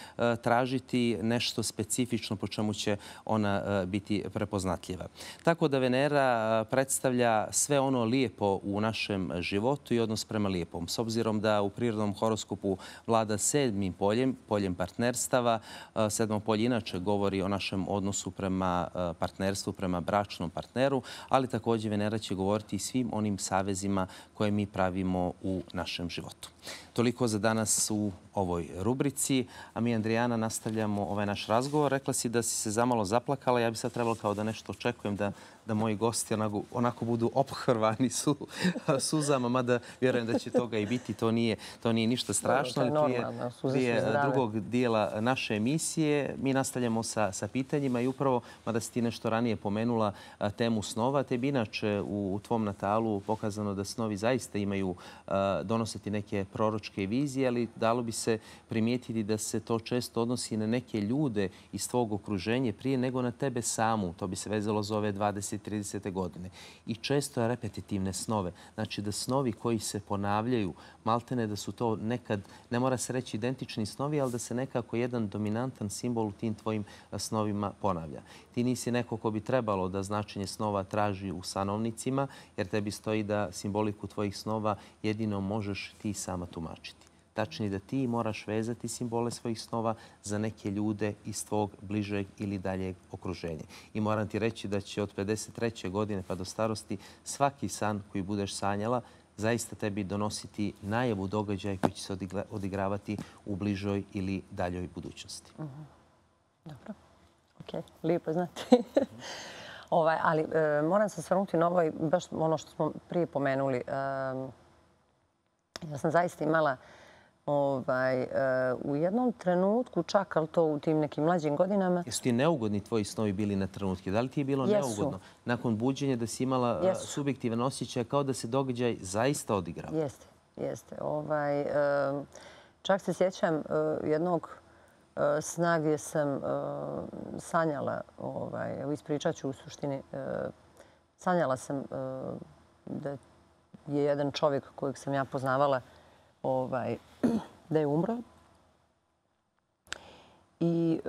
tražiti nešto specifično po čemu će ona biti prepoznatljiva. Tako da Venera predstavlja sve ono lijepo u našem životu i odnos prema lijepom. S obzirom da u prirodnom horoskopu vlada sedmim poljem partnerstava, sedmo polje inače govori o našem odnosu prema partnerstvu, partnerstvu, prema bračnom partneru, ali također Venera će govoriti i svim onim savezima koje mi pravimo u našem životu. Toliko za danas u ovoj rubrici, a mi, Andrijana, nastavljamo ovaj naš razgovor. Rekla si da si se zamalo zaplakala, ja bi sad trebalo kao da nešto očekujem da moji gosti onako budu ophrvani suzama, mada vjerujem da će toga i biti, to nije ništa strašno. Prije drugog dijela naše emisije mi nastavljamo sa pitanjima i upravo, mada si ti nešto ranije pomenula temu snova, te bi inače u tvom natalu pokazano da snovi zaista imaju donositi neke proročke vizije, ali dalo bi se primijetiti da se to često odnosi na neke ljude iz tvog okruženja prije nego na tebe samu. To bi se vezalo za ove 20-30 godine. I često je repetitivne snove. Znači da snovi koji se ponavljaju, maltene da su to nekad, ne mora se reći identični snovi, ali da se nekako jedan dominantan simbol u tim tvojim snovima ponavlja. Ti nisi neko ko bi trebalo da značenje snova traži u sanovnicima, jer tebi stoji da simboliku tvojih snova jedino možeš ti sama tumačiti. Tačnije da ti moraš vezati simbole svojih snova za neke ljude iz tvog bližeg ili daljeg okruženja. I moram ti reći da će od 53. godine pa do starosti svaki san koji budeš sanjala zaista tebi donositi najavu događaja koji će se odigravati u bližoj ili daljoj budućnosti. Dobro. Ok, lijepo znati. Ali moram se osvrnuti na ovo i baš ono što smo prije pomenuli. Ja sam zaista imala u jednom trenutku, čak ali to u tim nekim mlađim godinama. Jesu ti neugodni tvoji snovi bili na trenutke? Da li ti je bilo neugodno nakon buđenja da si imala subjektivan osjećaj kao da se događaj zaista odigrao? Jeste. Čak se sjećam jednog sna gdje sam sanjala, evo ispričat ću u suštini, sanjala sam da je jedan čovjek kojeg sam ja poznavala da je umro. I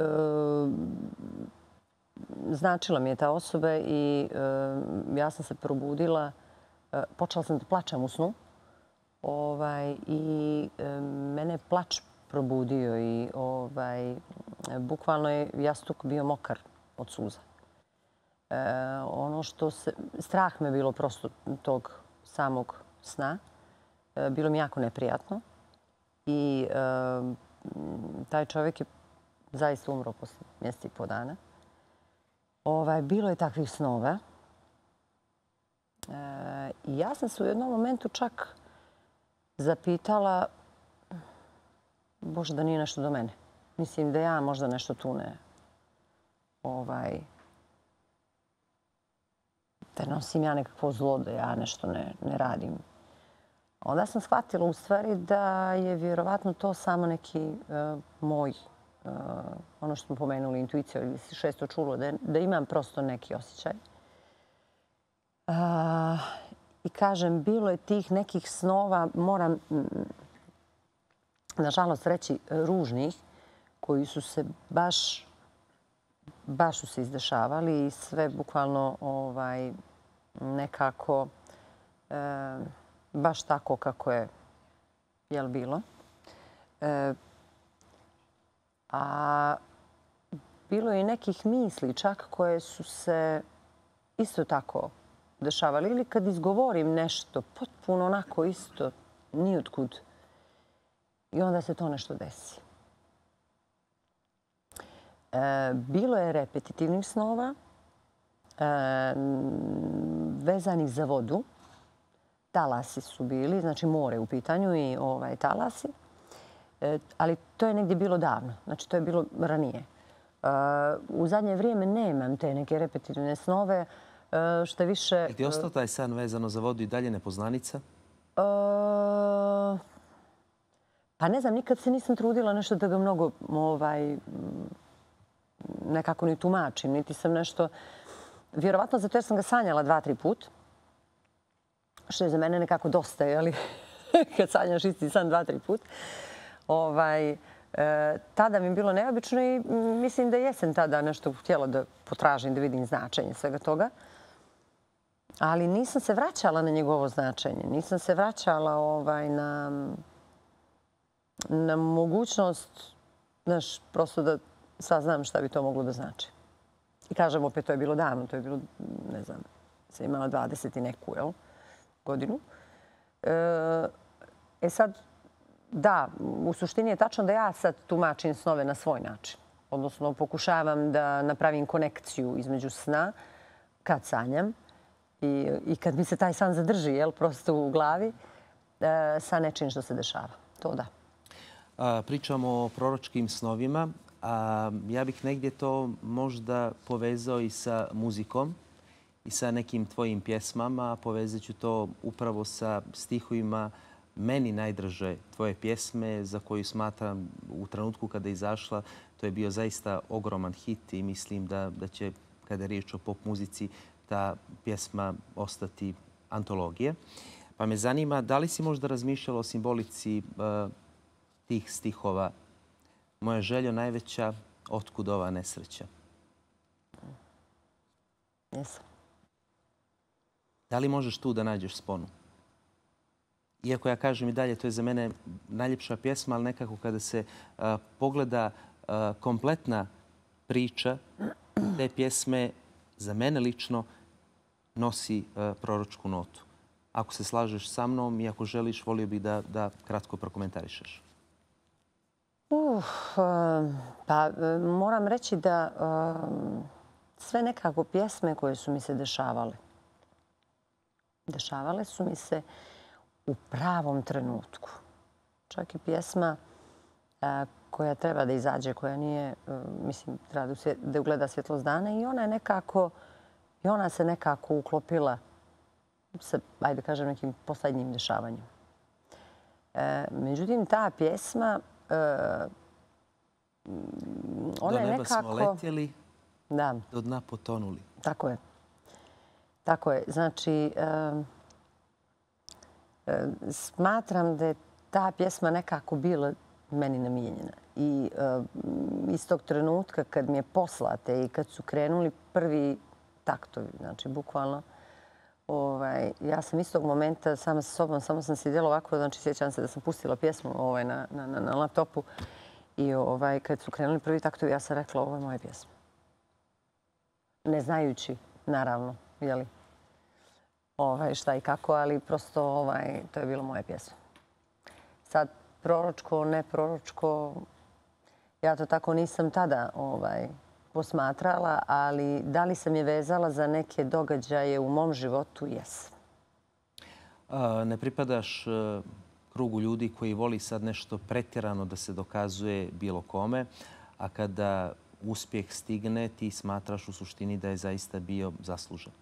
značila mi je ta osoba i ja sam se probudila. Počela sam da plačem u snu. I mene je plač probudio i bukvalno je jastuk bio mokar od suza. Strah me je bilo prosto tog samog sna. Bilo mi jako neprijatno i taj čovjek je zaista umro posle mjeseci i po dana. Bilo je takvih snova. I ja sam se u jednom momentu čak zapitala, Bože, da nije nešto do mene. Mislim da ja možda nešto tu da nosim ja nekakvo zlo, da ja nešto ne radim. Onda sam shvatila u stvari da je vjerovatno to samo neki moj, ono što smo pomenuli, intuicija ili si šesto čulo, da imam prosto neki osjećaj. I kažem, bilo je tih nekih snova, moram nažalost reći ružnih, koji su se baš su se izdešavali i sve bukvalno nekako baš tako kako je bilo. A bilo je i nekih misli čak koje su se isto tako dešavali. Ili kad izgovorim nešto potpuno onako isto, nijotkud. I onda se to nešto desi. Bilo je repetitivnih snova vezanih za vodu. Talasi su bili, znači more u pitanju i talasi. Ali to je negdje bilo davno, znači to je bilo ranije. U zadnje vrijeme nemam te neke repetitivne snove, što više... Je ti ostao taj san vezano za vodu i dalje nepoznanica? Pa ne znam, nikad se nisam trudila nešto da ga mnogo nekako ni tumačim, niti sam nešto... Vjerovatno zato jer sam ga sanjala 2-3 put, što je za mene nekako dosta, jeli? Kad sanjaš isti san 2-3 put. Tada mi je bilo neobično i mislim da jesam tada nešto htjela da potražim, da vidim značenje svega toga. Ali nisam se vraćala na njegovo značenje. Nisam se vraćala na mogućnost, znaš, prosto da saznam šta bi to moglo da znači. I kažem, opet, to je bilo davno, to je bilo, ne znam, sam imala 20 i neku godinu. Sad, da, u suštini je tačno da ja sad tumačim snove na svoj način. Odnosno, pokušavam da napravim konekciju između sna kad sanjam i kad mi se taj san zadrži, prosto u glavi, sa nečim što se dešava. To da. Pričamo o proročkim snovima. Ja bih negdje to možda povezao i sa muzikom i sa nekim tvojim pjesmama. Povezat ću to upravo sa stihovima meni najdraže tvoje pjesme za koju smatram u trenutku kada je izašla. To je bio zaista ogroman hit i mislim da će, kada je riječ o pop muzici, ta pjesma ostati antologije. Pa me zanima, da li si možda razmišljala o simbolici tih stihova? Moja želja najveća, otkud ova nesreća? Jesam. Da li možeš tu da nađeš sponu? Iako ja kažem i dalje, to je za mene najljepša pjesma, ali nekako kada se pogleda kompletna priča, te pjesme za mene lično nosi proročku notu. Ako se slažeš sa mnom i ako želiš, volio bih da kratko prokomentarišeš. Pa moram reći da sve nekako pjesme koje su mi se dešavale su mi se u pravom trenutku. Čak i pjesma koja treba da izađe, koja nije, mislim, treba da ugleda svjetlost dana i ona se nekako uklopila sa, ajde kažem, nekim posljednjim dešavanjem. Međutim, ta pjesma, ona je nekako... Do neba smo letjeli, do dna potonuli. Tako je. Tako je. Znači, smatram da je ta pjesma nekako bila meni namijenjena. I iz tog trenutka kad mi je poslata i kad su krenuli prvi taktovi, znači bukvalno, ja sam iz tog momenta sama sa sobom, samo sam sjedila ovako, znači sjećam se da sam pustila pjesmu na laptopu i kad su krenuli prvi taktovi, ja sam rekla ovo je moja pjesma. Ne znajući, naravno, jeli, šta i kako, ali prosto to je bilo moja pjesma. Sad, proročko, ne proročko, ja to tako nisam tada posmatrala, ali da li sam je vezala za neke događaje u mom životu? Jesam. Ne pripadaš krugu ljudi koji voli sad nešto pretjerano da se dokazuje bilo kome, a kada uspjeh stigne, ti smatraš u suštini da je zaista bio zaslužen.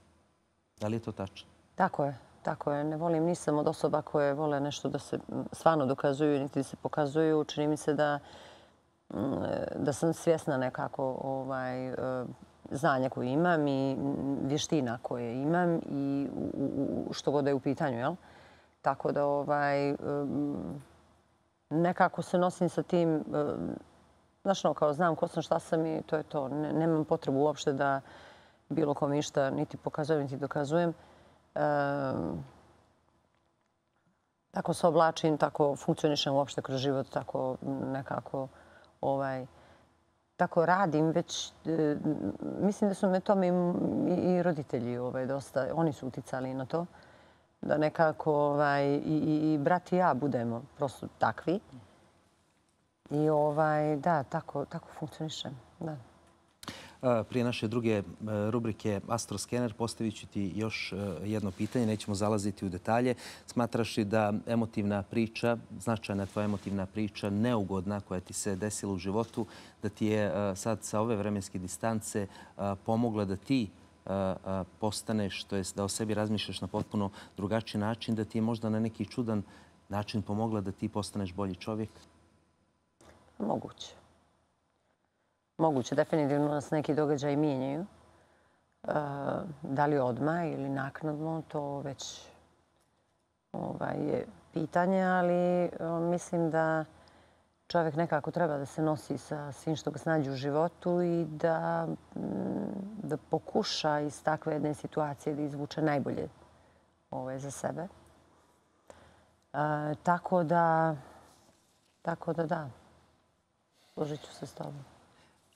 Da li je to tačno? Tako je. Tako je. Ne volim, nisam od osoba koje vole nešto da se stvarno dokazuju, niti se pokazuju. Čini mi se da sam svjesna nekako znanja koje imam i vještina koje imam i što god je u pitanju, jel? Tako da nekako se nosim sa tim, znaš, kao znam ko sam, šta sam i to je to. Nemam potrebu uopšte da bilo kom išta niti pokazujem, niti dokazujem. Tako se oblačim, tako funkcionišem uopšte kroz život, tako nekako tako radim. Već mislim da su me tome i roditelji dosta, oni su uticali na to. Da nekako i brat i ja budemo prosto takvi. I da, tako funkcionišem, da. Prije naše druge rubrike Astroskener postavit ću ti još jedno pitanje. Nećemo zalaziti u detalje. Smatraš li da emotivna priča, značajna tvoja emotivna priča, neugodna koja ti se desila u životu, da ti je sad sa ove vremenske distance pomogla da ti postaneš, to jest da o sebi razmišljaš na potpuno drugačiji način, da ti je možda na neki čudan način pomogla da ti postaneš bolji čovjek? Moguće. Moguće. Definitivno nas neki događaj mijenjaju. Da li odmah ili naknadno, to već je pitanje, ali mislim da čovjek nekako treba da se nosi sa svim što ga snađe u životu i da pokuša iz takve jedne situacije da izvuče najbolje za sebe. Tako da, složit ću se s tobom.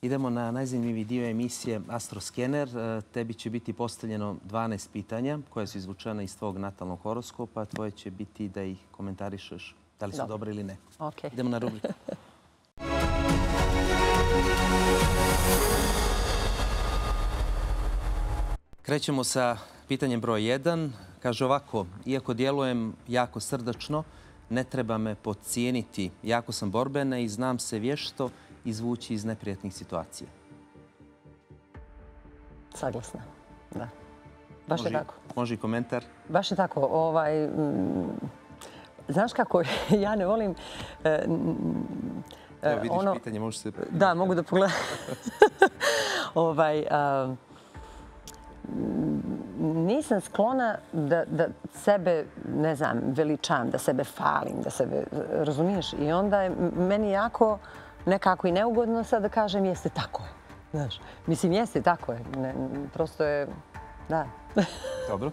Idemo na najzanimljiviji dio emisije Astroskener. Tebi će biti postavljeno 12 pitanja koje su izvučene iz tvog natalnog horoskopa. Tvoje će biti da ih komentarišeš da li su dobre ili ne. Okay. Idemo na rubriku. Krećemo sa pitanjem broj 1. Kaže ovako, iako djelujem jako srdačno, ne treba me podcijeniti. Jako sam borbena i znam se vješto izvući iz neprijatnih situacija. Saglasna, da. Baš je tako. Može i komentar? Baš je tako. Znaš kako, ja ne volim... Evo vidiš pitanje, možeš se... Da, mogu da pogledam. Nisam sklona da sebe, ne znam, veličam, da sebe falim, da sebe, razumiješ? I onda je meni jako nekako i neugodno sad da kažem jeste tako je. Znaš, mislim jeste tako je. Prosto je, da. Dobro,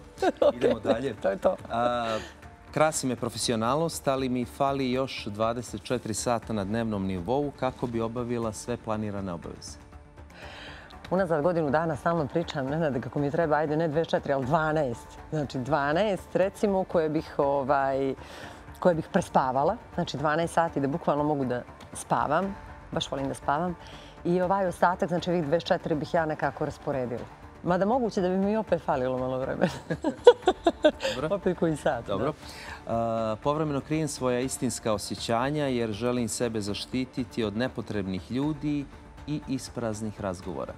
idemo dalje. To je to. Krasi me profesionalnost, ali mi fali još 24 sata na dnevnom nivou kako bi obavila sve planirane obaveze. Unazad godinu dana stalno pričam, Nenade, kako mi treba, ajde, ne 24, ali 12. Znači 12, recimo, koje bih prespavala. Znači 12 sati da bukvalno mogu da spavam. Baš volim da spavam. I ovaj ostatak, znači ovih 24 bih ja nekako rasporedila. Mada moguće da bi mi opet falilo malo vremena. Opet koji sat. Dobro. Povremeno krijem svoja istinska osjećanja jer želim sebe zaštititi od nepotrebnih ljudi i ispraznih razgovora.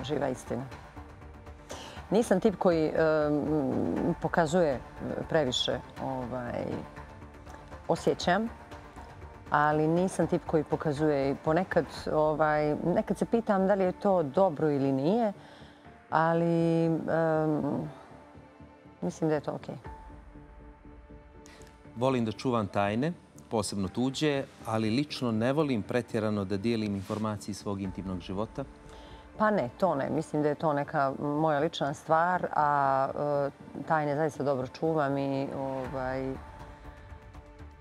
Živa istina. Nisam tip koji pokazuje previše osjećam, ali nisam tip koji pokazuje i ponekad, nekad se pitam da li je to dobro ili nije, ali mislim da je to okej. Volim da čuvam tajne, posebno tuđe, ali lično ne volim pretjerano da dijelim informacije svog intimnog života. Pa ne, to ne. Mislim da je to neka moja lična stvar, a tajne zaista dobro čuvam i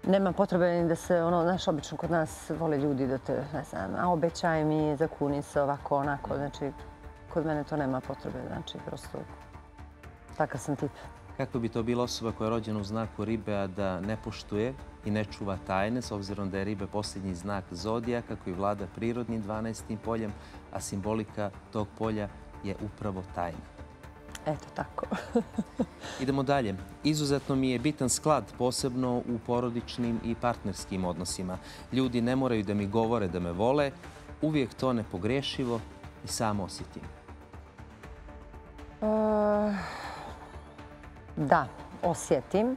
nema potrebe ni da se, znaš, obično kod nas vole ljudi da te, ne znam, a obećaj mi, zakuni se ovako, onako. Znači, kod mene to nema potrebe. Znači, prosto takav sam tip. Kako bi to bila osoba koja je rođena u znaku ribe, a da ne poštuje i ne čuva tajne, s obzirom da je ribe posljednji znak zodijaka koji vlada prirodnim 12. poljem, a simbolika tog polja je upravo tajna. Eto tako. Idemo dalje. Izuzetno mi je bitan sklad, posebno u porodičnim i partnerskim odnosima. Ljudi ne moraju da mi govore da me vole, uvijek to nepogrešivo i samo osjetim. Da, osjetim.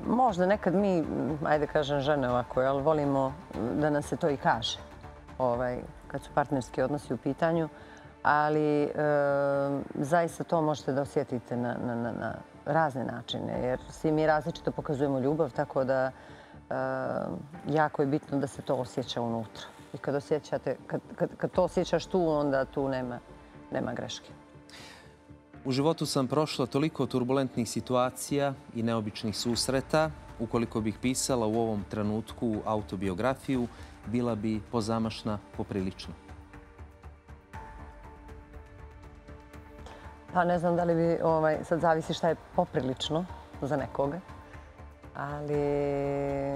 Možda nekad mi, ajde kažem žene ovako, ali volimo da nam se to i kaže kad su partnerski odnosi u pitanju, ali zaista to možete da osjetite na razne načine, jer svi mi različito pokazujemo ljubav, tako da jako je bitno da se to osjeća unutra. I kad to osjećaš tu, onda tu nema greške. U životu sam prošla toliko turbulentnih situacija i neobičnih susreta. Ukoliko bih pisala u ovom trenutku autobiografiju, bila bi pozamašna poprilično. Pa ne znam da li bi, sad zavisi šta je poprilično za nekoga, ali...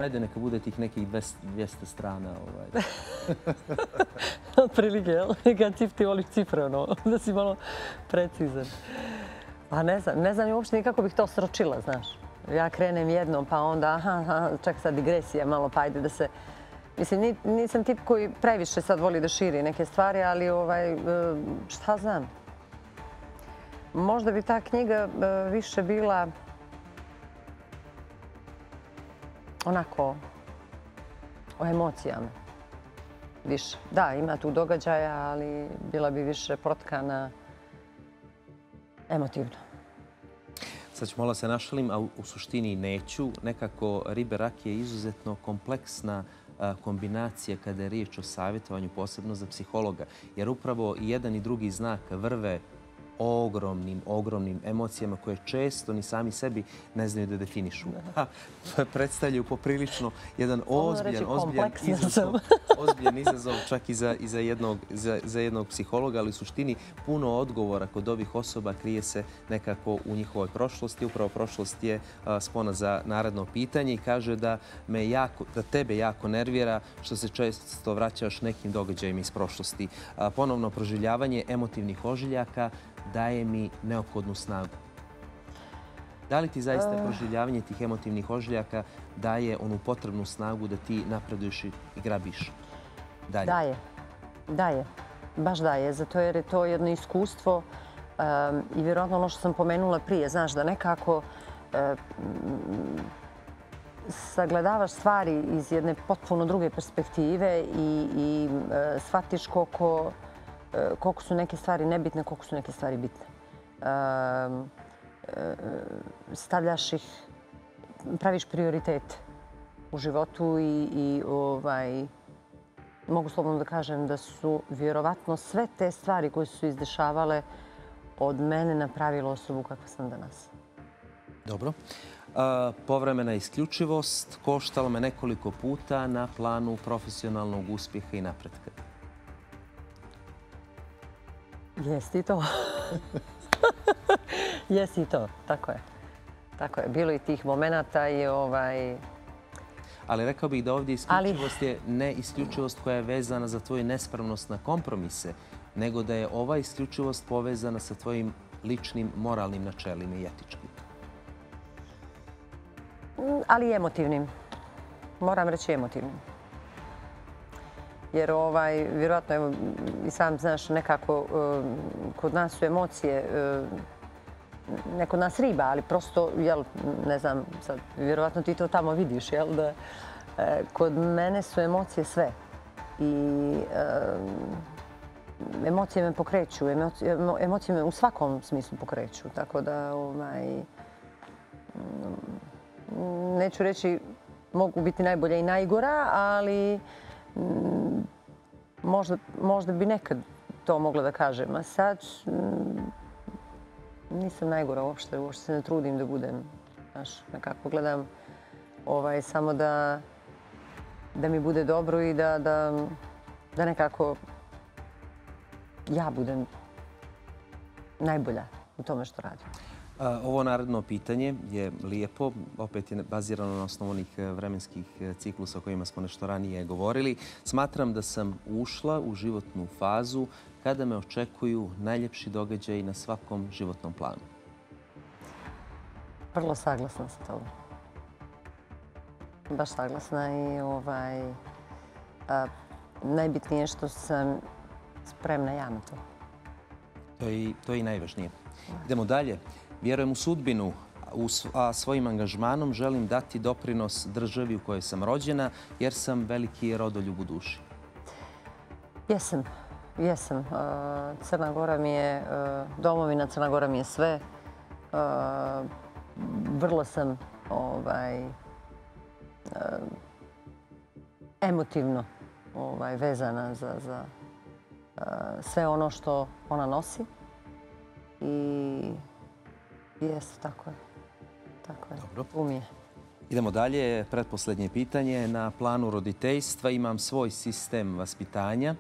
Ajde, neka bude tih nekih 200 strana. Otprilike, jel? Kad ti voliš cifre, da si malo precizan. Pa ne znam uopšte nikako bih to sročila, znaš. Ja krenem jednom, pa onda, čak sad digresija malo, pa ajde da se... Mislim, nisam tip koji previše sad voli da širi neke stvari, ali šta znam. Možda bi ta knjiga više bila onako o emocijama. Više. Da, ima tu događaja, ali bila bi više protkana emotivno. Sad ću malo se našalim, a u suštini neću. Nekako ribe rak je izuzetno kompleksna kombinacija kada je riječ o savjetovanju, posebno za psihologa. Jer upravo i jedan i drugi znak vrve ogromnim emocijama koje često ni sami sebi ne znaju da definišu. Predstavljaju poprilično jedan ozbiljan izazov čak i za jednog psihologa, ali u suštini puno odgovora kod ovih osoba krije se nekako u njihovoj prošlosti. Upravo prošlost je spona za naredno pitanje i kaže da tebe jako nervira što se često vraćaš nekim događajima iz prošlosti. Ponovno proživljavanje emotivnih ožiljaka daje mi neophodnu snagu. Da li ti zaista proživljavanje tih emotivnih ožiljaka daje onu potrebnu snagu da ti napreduješ i grabiš dalje? Daje. Baš daje. Zato jer je to jedno iskustvo i vjerojatno ono što sam pomenula prije. Znaš da nekako sagledavaš stvari iz jedne potpuno druge perspektive i shvatiš koliko su neke stvari nebitne, koliko su neke stvari bitne. Stavljaš ih, praviš prioritet u životu i mogu slobodno da kažem da su vjerovatno sve te stvari koje su se izdešavale od mene napravile osobu kakva sam danas. Dobro. Povremena isključivost koštala me nekoliko puta na planu profesionalnog uspjeha i napretka. Jesi i to. Jesi i to, tako je. Tako je. Bilo i tih momenata i Ali rekao bih da ovdje isključivost je ne isključivost koja je vezana za tvoju nespremnost na kompromise, nego da je ova isključivost povezana sa tvojim ličnim moralnim načelima i etičkim. Ali i emotivnim. Moram reći emotivnim. Jer vjerojatno, evo, i sam znaš, nekako kod nas su emocije, ne kod nas riba, ali prosto, jel, ne znam, sad, vjerojatno ti to tamo vidiš, jel, da kod mene su emocije sve. I emocije me pokreću, emocije me u svakom smislu pokreću, tako da, neću reći mogu biti najbolja i najgora, ali možda bi nekad to mogla da kažem. A sad nisam najgora uopšte se ne trudim da budem. Znaš, nekako gledam samo da mi bude dobro i da nekako ja budem najbolja u tome što radim. Ovo naredno pitanje je lijepo, opet je bazirano na osnovu onih vremenskih ciklusa o kojima smo nešto ranije govorili. Smatram da sam ušla u životnu fazu kada me očekuju najljepši događaji na svakom životnom planu. Vrlo saglasna sa tobom. Baš saglasna i najbitnije je što sam spremna ja na to. To je i najvažnije. Idemo dalje. Vjerujem u sudbinu, a svojim angažmanom želim dati doprinos državi u kojoj sam rođena, jer sam veliki rodoljub u duši. Jesam. Crna Gora mi je domovina, Crna Gora mi je sve. Vrlo sam emotivno vezana za sve ono što ona nosi. I jeste, tako je. Dobro. Umije. Idemo dalje. Pretposljednje pitanje. Na planu roditeljstva imam svoj sistem vaspitanja.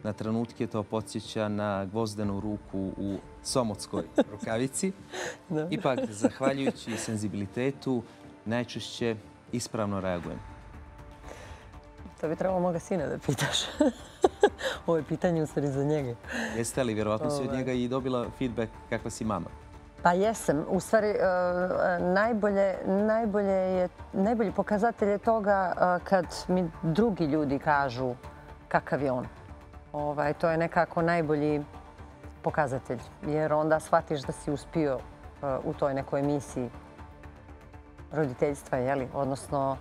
Na trenutke to podsjeća na gvozdenu ruku u somotskoj rukavici. Ipak, zahvaljujući senzibilitetu, najčešće ispravno reagujem. To bi trebalo moga sina da pitaš. Ovo je pitanje u stvari za njega. Jeste li, vjerovatno si od njega i dobila feedback kakva si mama? Pa jesam. U stvari, najbolji pokazatelj je toga kad mi drugi ljudi kažu kakav je on. To je nekako najbolji pokazatelj. Jer onda shvatiš da si uspio u toj nekoj misiji roditeljstva, odnosno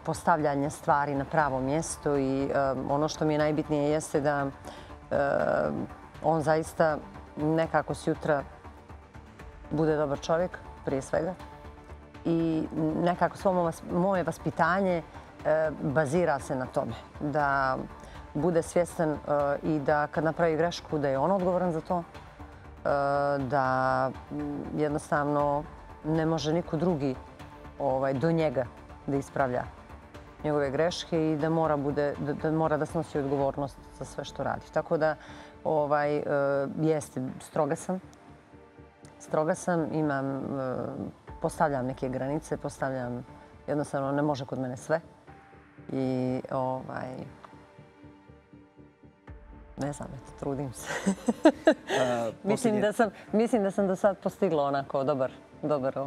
postavljanje stvari na pravo mjesto i ono što mi je najbitnije jeste da on zaista nekako sjutra bude dobar čovjek, prije svega. I nekako svo moje vaspitanje bazira se na tome. Da bude svjestan i da kad napravi grešku da je on odgovoran za to. da jednostavno ne može niko drugi do njega da ispravlja njegove greške i da mora da snosi odgovornost za sve što radi. Tako da jeste, stroga sam, postavljam neke granice, jednostavno ne može kod mene sve. I ne znam, trudim se. Mislim da sam do sad postigla onako dobar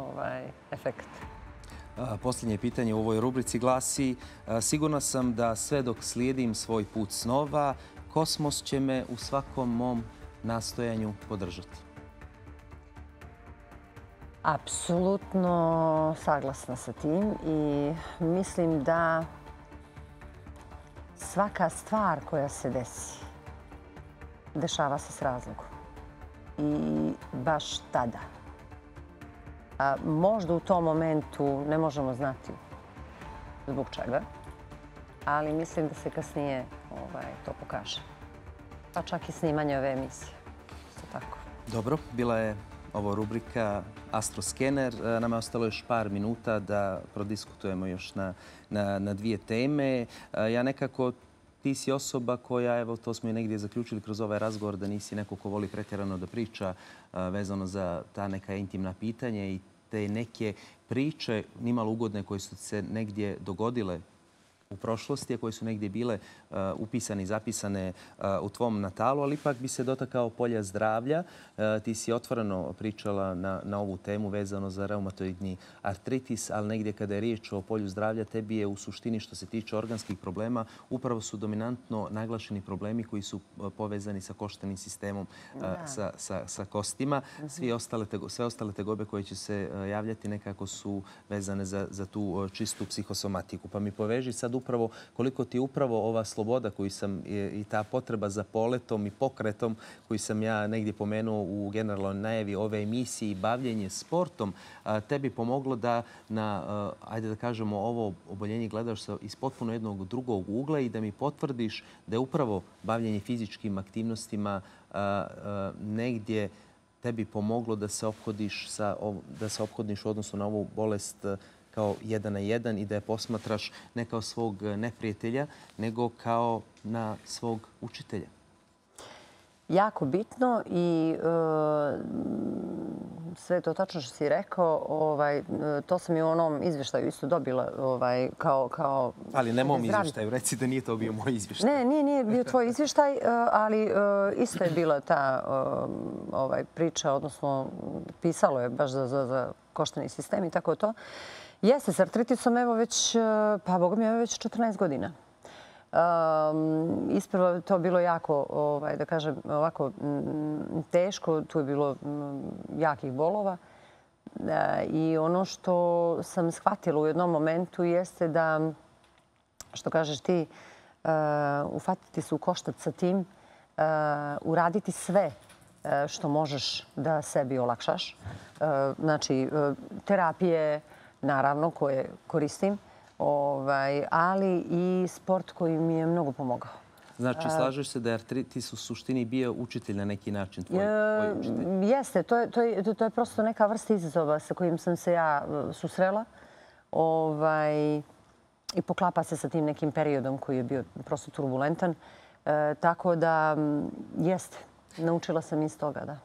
efekt. Posljednje pitanje u ovoj rubrici glasi: sigurna sam da sve dok slijedim svoj put snova, kosmos će me u svakom mom nastojanju podržati. Apsolutno saglasna sa tim i mislim da svaka stvar koja se desi, dešava se s razlogom. I baš tada. Možda u tom momentu ne možemo znati zbog čega, ali mislim da se kasnije to pokaže. Pa čak i snimanje ove emisije. Isto tako. Dobro, bila je ovo rubrika Astroskener. Nama je ostalo još par minuta da prodiskutujemo još na dvije teme. Ja nekako, ti si osoba koja, evo to smo i negdje zaključili kroz ovaj razgovor, da nisi neko ko voli pretjerano da priča vezano za ta neka intimna pitanja i te neke priče nimalo ugodne koje su se negdje dogodile u prošlosti, a koje su negdje bile upisane i zapisane u tvom natalu, ali ipak bi se dotakao polja zdravlja. Ti si otvoreno pričala na ovu temu vezano za reumatoidni artritis, ali negdje kada je riječ o polju zdravlja, tebi je u suštini što se tiče organskih problema upravo su dominantno naglašeni problemi koji su povezani sa koštanim sistemom, sa kostima. Sve ostale tegobe koje će se javljati nekako su vezane za tu čistu psihosomatiku. Pa mi poveži sad upravo koliko ti upravo ova sloboda koju sam i ta potreba za poletom i pokretom koju sam ja negdje pomenuo u generalnoj najavi ove emisije i bavljenje sportom tebi pomoglo da ajde da kažemo, ovo oboljenje gledaš iz potpuno jednog drugog ugla i da mi potvrdiš da je upravo bavljenje fizičkim aktivnostima negdje tebi pomoglo da se ophodiš u odnosu na ovu bolest kao 1 na 1 i da je posmatraš ne kao svog neprijatelja, nego kao na svog učitelja. Jako bitno i sve to tačno što si rekao. To sam i u onom izvještaju isto dobila kao... Ali ne mom izvještaju, reci da nije to bio moj izvještaj. Ne, nije bio tvoj izvještaj, ali isto je bila ta priča, odnosno pisalo je baš za koštani sistem i tako to. Jeste, s artritisom evo već, pa Boga mi je već 14 godina. Ispravo je to bilo jako, da kažem, ovako teško. Tu je bilo jakih bolova. I ono što sam shvatila u jednom momentu jeste da, što kažeš ti, ufatiti se u koštac sa tim, uraditi sve što možeš da sebi olakšaš. Znači, terapije, naravno, koje koristim, ali i sport koji mi je mnogo pomogao. Znači, slažeš se da je artritis u suštini bio učitelj na neki način, tvoj učitelj? Jeste, to je prosto neka vrsta izazova sa kojim sam se ja susrela i poklapa se sa tim nekim periodom koji je bio prosto turbulentan. Tako da, jeste, naučila sam iz toga, da.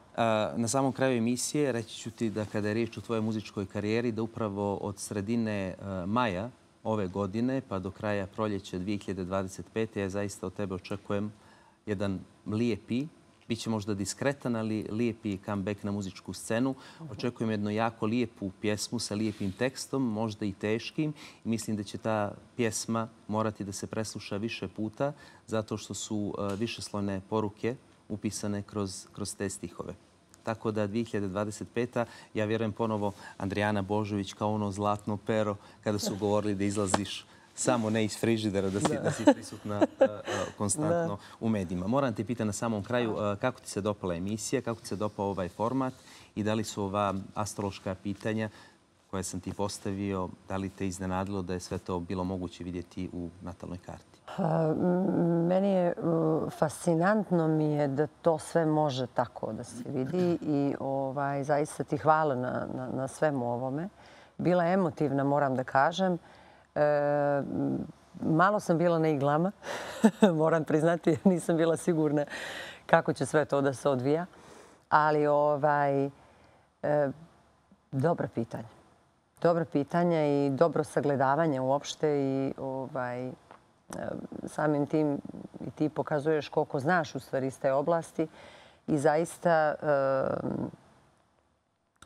Na samom kraju emisije reći ću ti da kada je riječ o tvojoj muzičkoj karijeri, da upravo od sredine maja ove godine pa do kraja proljeća 2025. ja zaista od tebe očekujem jedan lijepi, bit će možda diskretan, ali lijepi comeback na muzičku scenu. Očekujem jednu jako lijepu pjesmu sa lijepim tekstom, možda i teškim. Mislim da će ta pjesma morati da se presluša više puta zato što su višeslojne poruke upisane kroz te stihove. Tako da 2025. ja vjerujem ponovo Andrijana Božović kao ono zlatno pero kada su govorili da izlaziš samo ne iz frižidera, da si prisutna konstantno u medijima. Moram te pitati na samom kraju kako ti se dopala emisija, kako ti se dopao ovaj format i da li su ova astrološka pitanja koje sam ti postavio, da li te iznenadilo da je sve to bilo moguće vidjeti u natalnoj karti? Meni je fascinantno mi je da to sve može tako da se vidi i zaista ti hvala na svemu ovome. Bila je emotivna, moram da kažem. Malo sam bila na iglama, moram priznati, nisam bila sigurna kako će sve to da se odvija. Ali dobra pitanja. Dobra pitanja i dobro sagledavanje uopšte i samim tim i ti pokazuješ koliko znaš u stvari iz te oblasti i zaista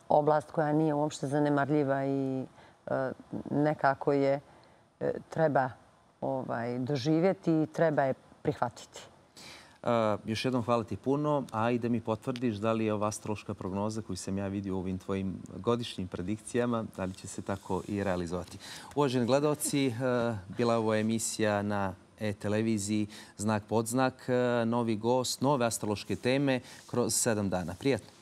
oblast koja nije uopšte zanemarljiva i nekako je treba doživjeti i treba je prihvatiti. Još jednom hvala ti puno, a i da mi potvrdiš da li je ova astrološka prognoza koju sam ja vidio u ovim tvojim godišnjim predikcijama, da li će se tako i realizovati. Uvaženi gledalci, bila je ovo emisija na e-televiziji Znak podznak, novi gost, nove astrološke teme kroz 7 dana. Prijatno!